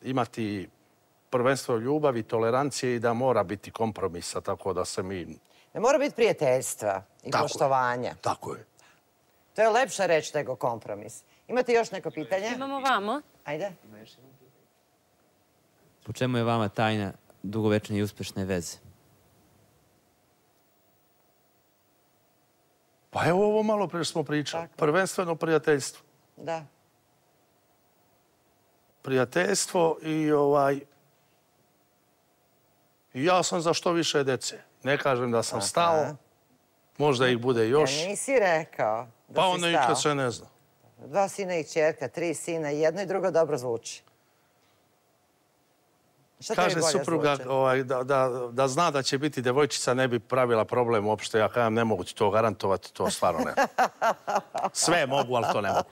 imati prvenstvo ljubavi, tolerancije i da mora biti kompromisa, tako da se mi... Ne mora biti prijateljstva i poštovanja. Tako je. To je lepša reč nego kompromis. Imate još neko pitanje? Imamo vamo. Ajde. Po čemu je vama tajna dugovečne i uspešne veze? Pa evo ovo malo prije smo pričali. Prvenstveno prijateljstvo. Da. Prijateljstvo i I ja sam za što više dece. Ne kažem da sam stao, možda ih bude još. Ja nisi rekao da si stao. Pa onda nikad se ne zna. 2 sina i ćerka, 3 sina, jedno i drugo dobro zvuči. Kaže supruga da zna da će biti devojčica, ne bi pravila problem uopšte. Ja kažem, ne mogu ti to garantovati, to stvarno ne. Sve mogu, ali to ne mogu.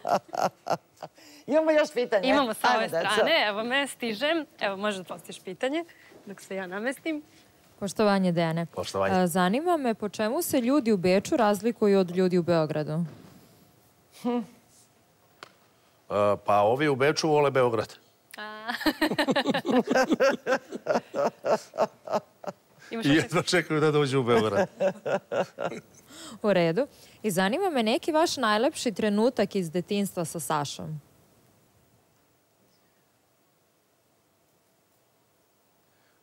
Imamo još pitanje. Imamo sa ove strane. Evo, me stižem. Evo, možda postiš pitanje dok se ja namestim. Poštovanje, Dejane. Poštovanje. Zanima me po čemu se ljudi u Beču razlikuju od ljudi u Beogradu? Pa ovi u Beču vole Beograd. I jedno čekaju da dođu u Beograd. U redu. I zanima me neki vaš najlepši trenutak iz detinjstva sa Sašom.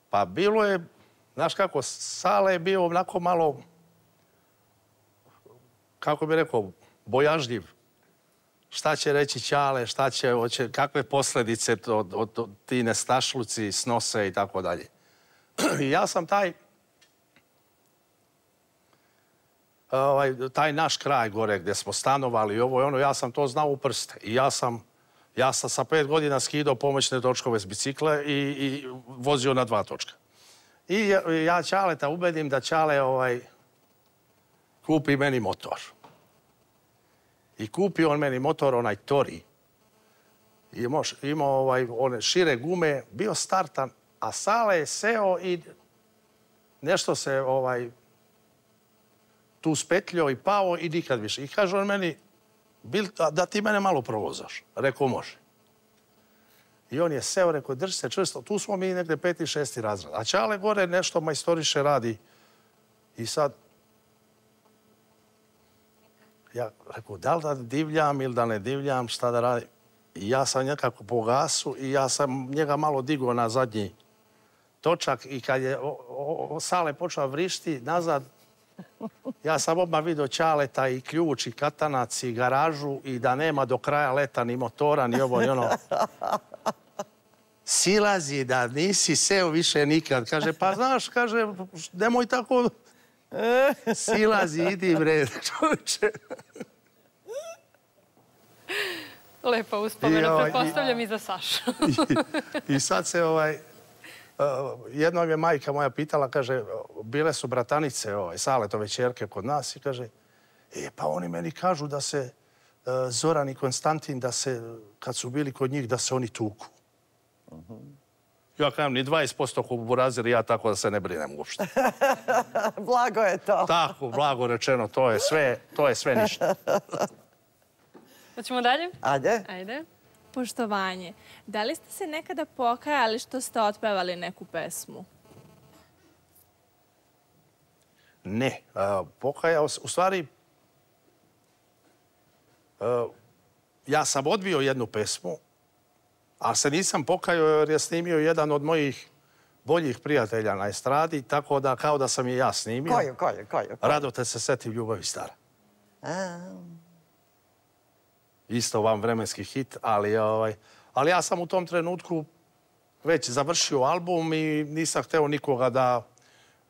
Pa bilo je, znaš kako, Sale je bio onako malo, kako bi rekao, bojažljiv. Šta će reći Ćale, kakve posljedice od ti nestašluci snose i tako dalje. I ja sam taj naš kraj gore gdje smo stanovali i ovo i ono, ja sam to znao u prste. I ja sam sa 5 godina skidao pomoćne točkove s bicikle i vozio na 2 točka. I ja Ćaleta ubedim da Ćale kupi meni motor. I kupio on meni motor, onaj Tori. Imao one šire gume, bio startan, a Sale je seo i nešto se tu spetljio i pao i nikad više. I kaže on meni, da ti mene malo provozaš. Rekao, može. I on je seo, rekao, drži se čvrsto. Tu smo mi negdje 5. i 6. razred. A Ćale gore nešto majstoriše radi. I sad, ja rekao, da li da divljam ili da ne divljam, šta da radim. I ja sam nekako po gasu i ja sam njega malo digao na zadnji točak i kad je Sale počeo vrišti nazad, ja sam odmah vidio Ćaleta i ključ i katanac i garažu i da nema do kraja leta ni motora, ni ovo, ni ono. Silazi da nisi seo više nikad. Kaže, pa znaš, kaže, nemoj tako... Silazi, idi bre, čovječe. Lepa uspomena, pretpostavljam i za Sašu. I sad se jednom je majka moja pitala, kaže, bile su bratanice, Saletove ćerke kod nas i kaže, pa oni meni kažu da se Zoran i Konstantin, da se, kad su bili kod njih, da se oni tuku. Ja kažem, ni 20% kuburazir, ja tako da se ne brinem uopšte. Blago je to. Tako, blago rečeno, to je sve ništa. Hoćemo dalje? Ajde. Poštovanje. Da li ste se nekada pokajali što ste otpevali neku pesmu? Ne. Pokajao se, u stvari, ja sam odbio jednu pesmu, ali se nisam pokajao jer je snimio jedan od mojih boljih prijatelja na estradi, tako da kao da sam je ja snimio. Koju? Rado te se setim ljubavi stara. Isto vam vremenski hit, ali ja sam u tom trenutku već završio album i nisam hteo nikoga da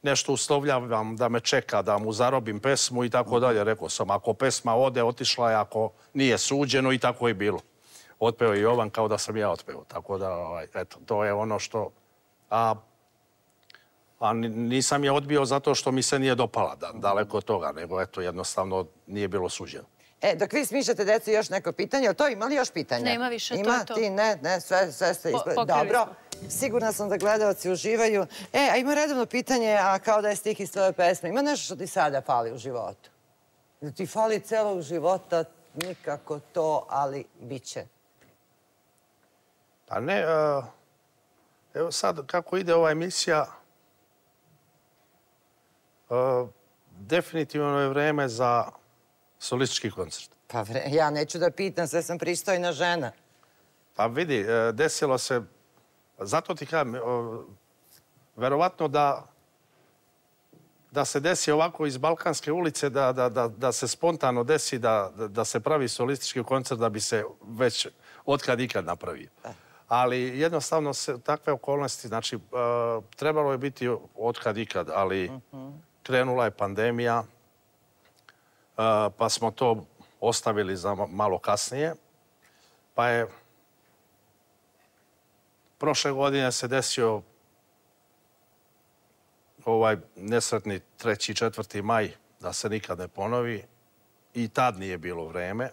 nešto uslovljavam, da me čeka, da mu zarobim pesmu i tako dalje. Rekao sam, ako pesma ode, otišla je, ako nije suđeno i tako je bilo. Otpeo je Jovan kao da sam ja otpeo. Tako da, eto, to je ono što... A nisam je odbio zato što mi se nije dopala, daleko od toga, nego eto, jednostavno nije bilo suđeno. Dok vi smišljate, deco, još neko pitanje, ali to ima li još pitanja? Nema više, to je to. Ima ti, ne, sve ste ispred. Dobro, sigurna sam da gledalci uživaju. A ima redovno pitanje, a kao da je stih iz tvoje pesme. Ima nešto što ti sada fali u životu? Da ti fali celog života, nikako to, ali bit će. Pa ne, evo sad kako ide ova emisija, definitivno je vreme za solistički koncert. Pa ja neću da pitam, sve sam pristojna žena. Pa vidi, desilo se, zato ti kažem, verovatno da se desi ovako iz Balkanske ulice, da se spontano desi, da se pravi solistički koncert, da bi se već otkad ikad napravio. Ali jednostavno se takve okolnosti, znači trebalo je biti od kad ikad, ali krenula je pandemija, pa smo to ostavili za malo kasnije. Pa je prošle godine se desio ovaj nesretni 3. i 4. maj, da se nikad ne ponovi. I tad nije bilo vreme.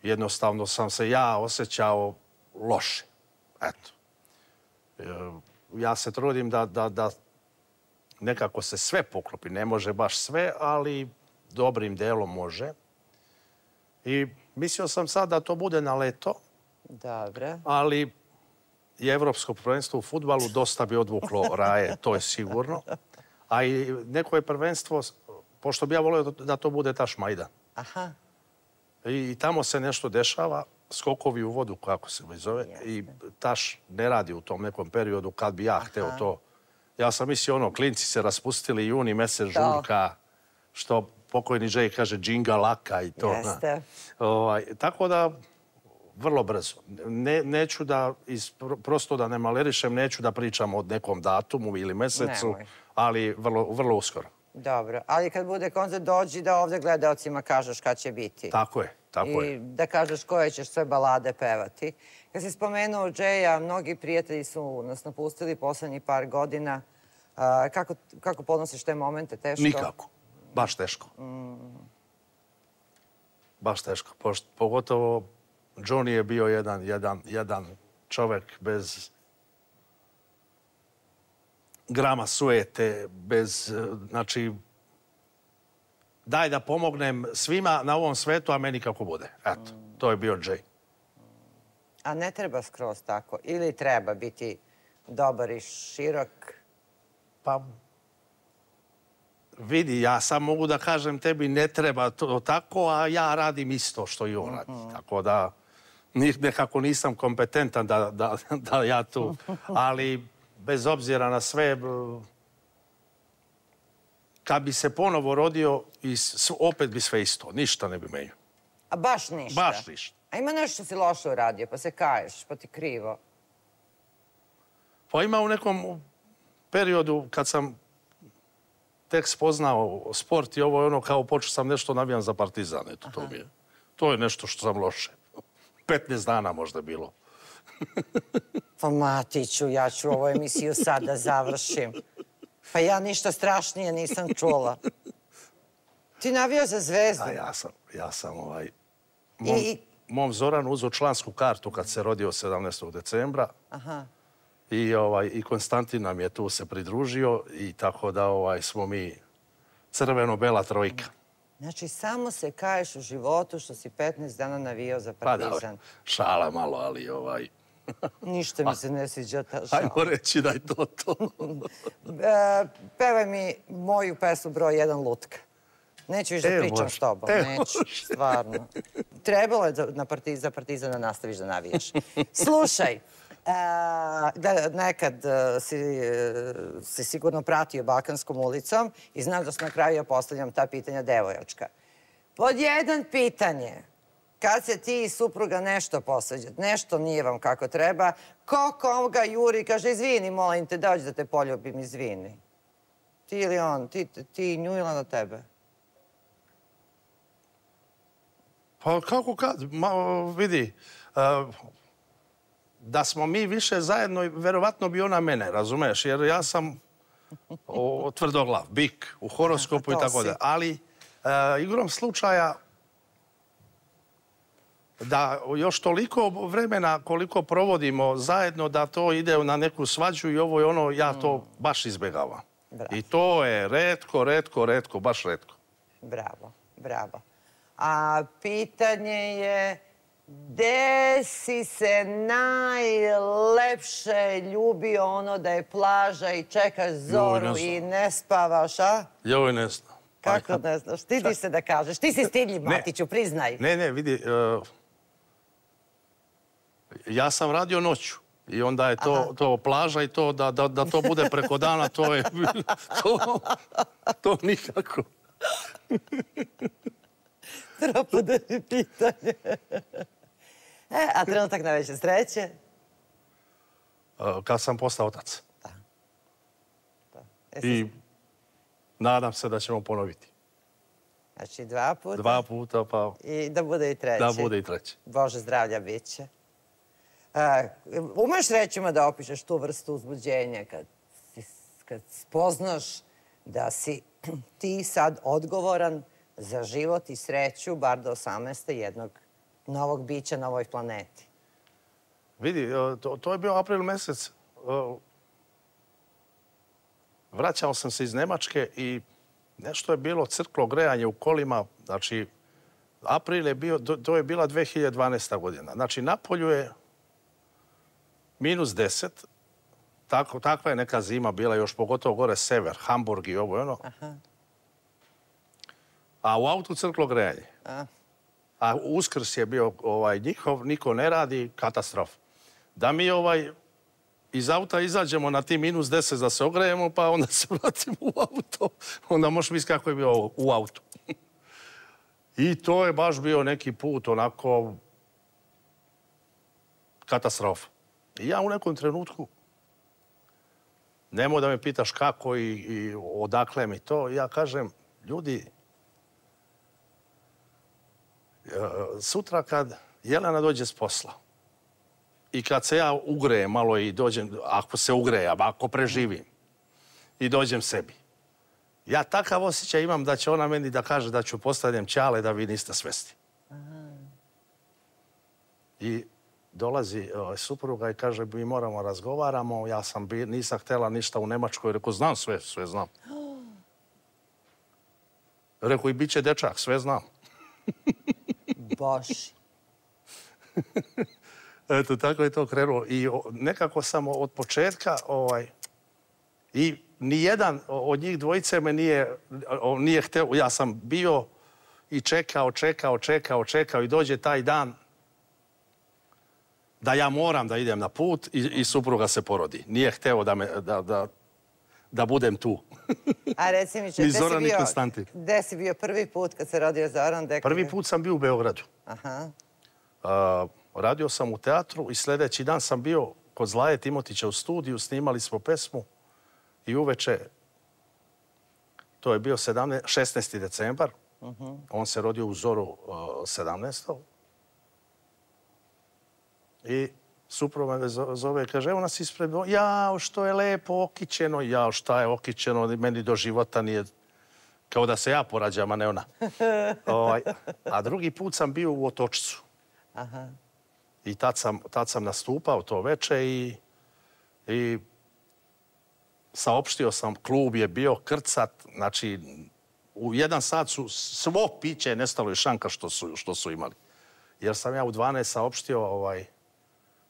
Jednostavno sam se ja osjećao loše. Eto. Ja se trudim da nekako se sve poklopi. Ne može baš sve, ali dobrim delom može. I mislio sam sad da to bude na leto. Dobre. Ali i Evropsko prvenstvo u fudbalu dosta bi odvuklo raje, to je sigurno. A i neko je prvenstvo, pošto bi ja volio da to bude Taš Majdan. Aha. I tamo se nešto dešava, skokovi u vodu, kako se zove, i Taš ne radi u tom nekom periodu kad bi ja hteo to. Ja sam mislio, klinci se raspustili juni, mesec žurka, što pokojni Jay kaže, džinga laka i to. Jeste. Tako da, vrlo brzo. Neću da, prosto da ne malerišem, neću da pričam o nekom datumu ili mesecu, ali vrlo uskoro. Dobro, ali kad bude koncert, dođi da ovde gledaocima kažeš kad će biti. Tako je, tako je. I da kažeš koje ćeš sve balade pevati. Kad si spomenuo Jaya, mnogi prijatelji su nas napustili poslednjih par godina. Kako podnosiš te momente? Teško? Nikako. Baš teško. Baš teško. Pogotovo Johnny je bio jedan čovek bez grama sujete, bez, znači, daj da pomognem svima na ovom svetu, a meni kako bude. Eto, to je bio Jay. A ne treba skroz tako? Ili treba biti dobar i širok? Pa, vidi, ja sam mogu da kažem tebi ne treba to tako, a ja radim isto što i on radi. Tako da nekako nisam kompetentan da ja tu, ali bez obzira na sve, kad bi se ponovo rodio, opet bi sve isto. Ništa ne bi menio. A baš ništa? Baš ništa. A ima nešto što si loše uradio, pa se kaješ, pa ti krivo? Pa ima u nekom periodu kad sam tek spoznao sport i ovo je kao počeo sam nešto navijam za Partizan. Eto, to je nešto što sam loše. 15 dana možda bilo. Pa Matiću, ja ću ovu emisiju sad da završim. Pa ja ništa strašnije nisam čula. Ti navio za Zvezdu? Ja sam mom Zoranu uzeo člansku kartu kad se rodio 17. decembra. I Konstantin nam je tu se pridružio i tako da smo mi crveno-bela trojka. Znači, samo se kaješ u životu što si 15 dana navijao za Partizan. Pa da, šala malo, ali Ništa mi se ne sviđa ta šala. Ajmo reći da je to to. Pevaj mi moju pesmu broj 1 Lutka. Neću više da pričam s tobom. Neću, stvarno. Trebalo je za Partizan da nastaviš da navijaš. Slušaj, nekad si sigurno pratio Balkanskom ulicom i znam da sam na kraju ja postavljam ta pitanja devojačka. Pod 1 pitanje. Kad se ti i supruga nešto posveđate, nešto nije vam kako treba, koga juri, kaže, izvini, molim te, dođi da te poljubim, izvini. Ti ili on, ti nju ili na tebe? Pa kako kad? Vidi, da smo mi više zajedno, verovatno bi ona mene, razumeš? Jer ja sam tvrdoglav, bik u horoskopu i tako da. Ali igrom slučaja da još toliko vremena koliko provodimo zajedno da to ide na neku svađu i ovo i ono, ja to baš izbegavam. I to je retko, baš retko. Bravo, bravo. A pitanje je, gde si se najlepše ljubio ono da je plaža i čekaš zoru i ne spavaš, a? Joj, ne znam. Kako ne znaš? Stidiš se da kažeš. Ti si stidljiv, Matiću, priznaj. Ne, vidi, ja sam radio noću i onda je to plaža i to da to bude preko dana, to je to nikako. Propade mi pitanje. A trenutak najveće sreće? Kad sam postao otac. I nadam se da ćemo ponoviti. Znači 2 puta? 2 puta, pa... I da bude i treći? Da bude i treći. Bože zdravlja bit će. Umeš rečima da opišeš tu vrstu uzbuđenja kad spoznaš da si ti sad odgovoran za život i sreću, bar do 18. jednog novog bića na ovoj planeti? Vidi, to je bio april mesec. Vraćao sam se iz Nemačke i nešto je bilo crklo grejanje u kolima. Znači, april je bio, to je bila 2012. godina. Znači, napolju je -10. Takva je neka zima bila, još pogotovo gore sever, Hamburg i ovo i ono. A u autu crklo grejanje. A Uskrs je bio njihov, niko ne radi, katastrofa. Da mi iz auta izađemo na ti -10 da se ogrejemo, pa onda se vratimo u auto. Onda možeš misliti kako je bio u autu. I to je baš bio neki put, onako, katastrofa. I ja u nekom trenutku, nemoj da me pitaš kako i odakle mi to, ja kažem, ljudi, sutra kad Jelena dođe s posla i kad se ja ugrejem malo i dođem, ako se ugrejem, ako preživim i dođem sebi, ja takav osjećaj imam da će ona meni da kaže da ću postavljam ćale da vi niste svesni. I dolazi supruga i kaže, mi moramo razgovaramo, ja nisam htjela ništa u Nemačkoj, rekao, znam sve znam. Rekao, i bit će dečak, sve znam. Boži. Eto, tako je to krenulo. I nekako sam od početka i nijedan od njih dvojice me nije hteo. Ja sam bio i čekao i dođe taj dan da ja moram da idem na put i supruga se porodi. Nije hteo da budem tu. A reci mi, ni Zoran, ni Konstantin. Gde si bio prvi put kad se rodio Zoran? Prvi put sam bio u Beogradu. Aha. Radio sam u teatru i sljedeći dan sam bio kod Zlaje Timotića u studiju, snimali smo pesmu i uveče, to je bio 16. decembar, on se rodio u zoru 17. I supruga me zove i kaže, evo nas ispred, jao, što je lepo okićeno, jao, šta je okićeno, meni do života nije, kao da se ja porađam, a ne ona. A drugi put sam bio u Otočcu. I tad sam nastupao to veče i saopštio sam, klub je bio krcat, znači u 1 sat su svo piće nestalo i šanka što su imali. Jer sam ja u 12 saopštio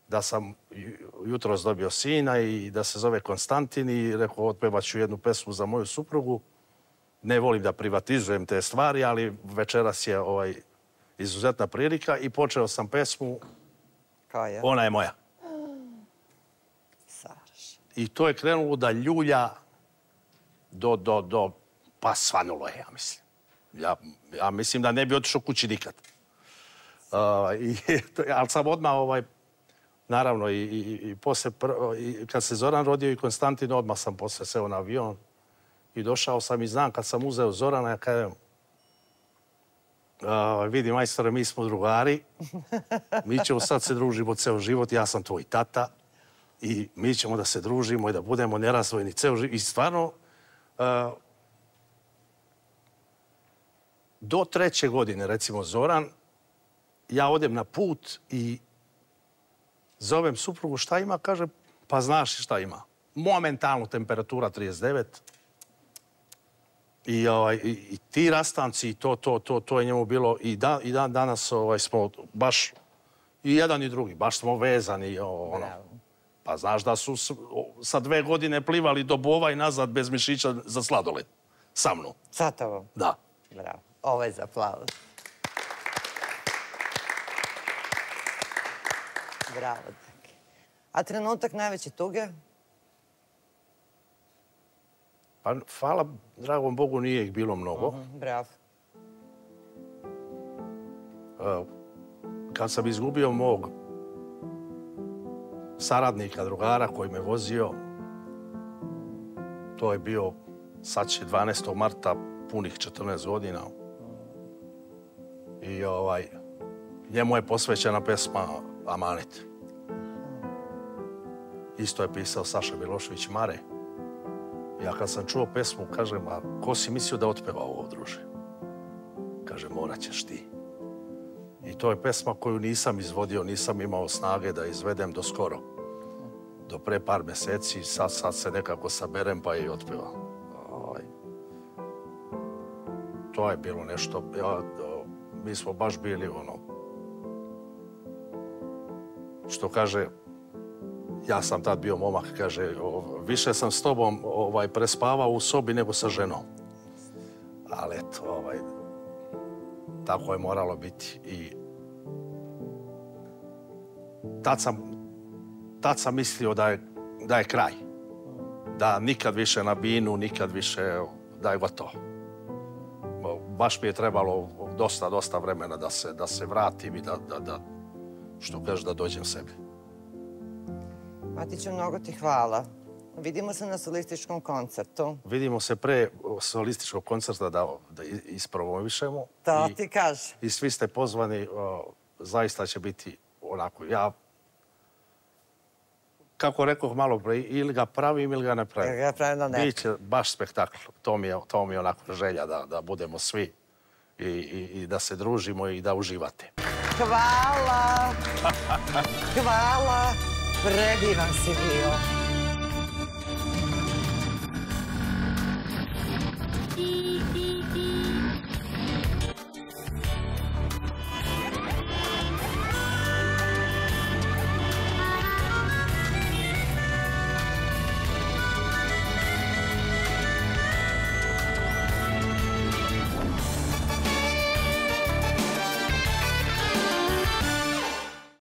da sam jutros dobio sina i da se zove Konstantin i rekao, otpevat ću jednu pesmu za moju suprugu. Ne volim da privatizujem te stvari, ali večeras je izuzetna prilika i počeo sam pesmu Ona je moja. I to je krenulo da ljulja pa svanulo je, ja mislim. Ja mislim da ne bi otišao kući nikad. Ali sam odmah, naravno, i posle, kad se Zoran rodio i Konstantin, odmah sam posle seo na avion i došao sam i znam kad sam uzeo Zorana, ja kažem, vidi, majstore, mi smo drugari, mi ćemo sad se družimo ceo život, ja sam tvoj tata i mi ćemo da se družimo i da budemo nerazvojni ceo život. I stvarno, do 3. godine, recimo, Zoran, ja odem na put i zovem suprugu, šta ima? Kaže, pa znaš šta ima. Momentalno temperatura 39. I ti rastanci, to je njemu bilo. I dan danas smo baš, i jedan i drugi, baš smo vezani. Pa znaš da su sa 2 godine plivali do Bova i nazad bez mišića za sladoled. Sa mnom. Sa tobom? Da. Bravo. Ovo je za aplauz. Bravo. A trenutak najveće tuge? Pa, hvala dragom Bogu, nije ih bilo mnogo. Bravo. kad sam izgubio mog saradnika, drugara koji me vozio, to je bio, sad će 12. marta, punih 14 godina. I njemu je posvećena pesma Amanet. Isto je pisao Saša Milošević Mare. Ja kad sam čuo pesmu, kažem, a ko si mislio da otpeva ovo, druže? Kaže, morat ćeš ti. I to je pesma koju nisam izvodio, nisam imao snage da izvedem do skoro. Do pre par meseci, sad se nekako saberem pa i otpevam. To je bilo nešto, mi smo baš bili što kaže, ja sam tad bio momak, kaže, više sam s tobom prespavao u sobi nego sa ženom. Ali eto, tako je moralo biti. I tad sam mislio da je kraj. Da nikad više na binu, nikad više, da je gotovo. Baš mi je trebalo dosta vremena da se vratim i da što kažeš, da dođem sebi. Matiću, mnogo ti hvala. Vidimo se na solističkom koncertu. Vidimo se pre solističkog koncerta da ispromovišemo. To ti kaže. I svi ste pozvani, zaista će biti onako. Ja, kako rekoh malo pre, ili ga pravim ili ga ne pravim. Biće baš spektakl. To mi je onako želja da budemo svi i da se družimo i da uživate. Hvala! Hvala! Predivan si bio.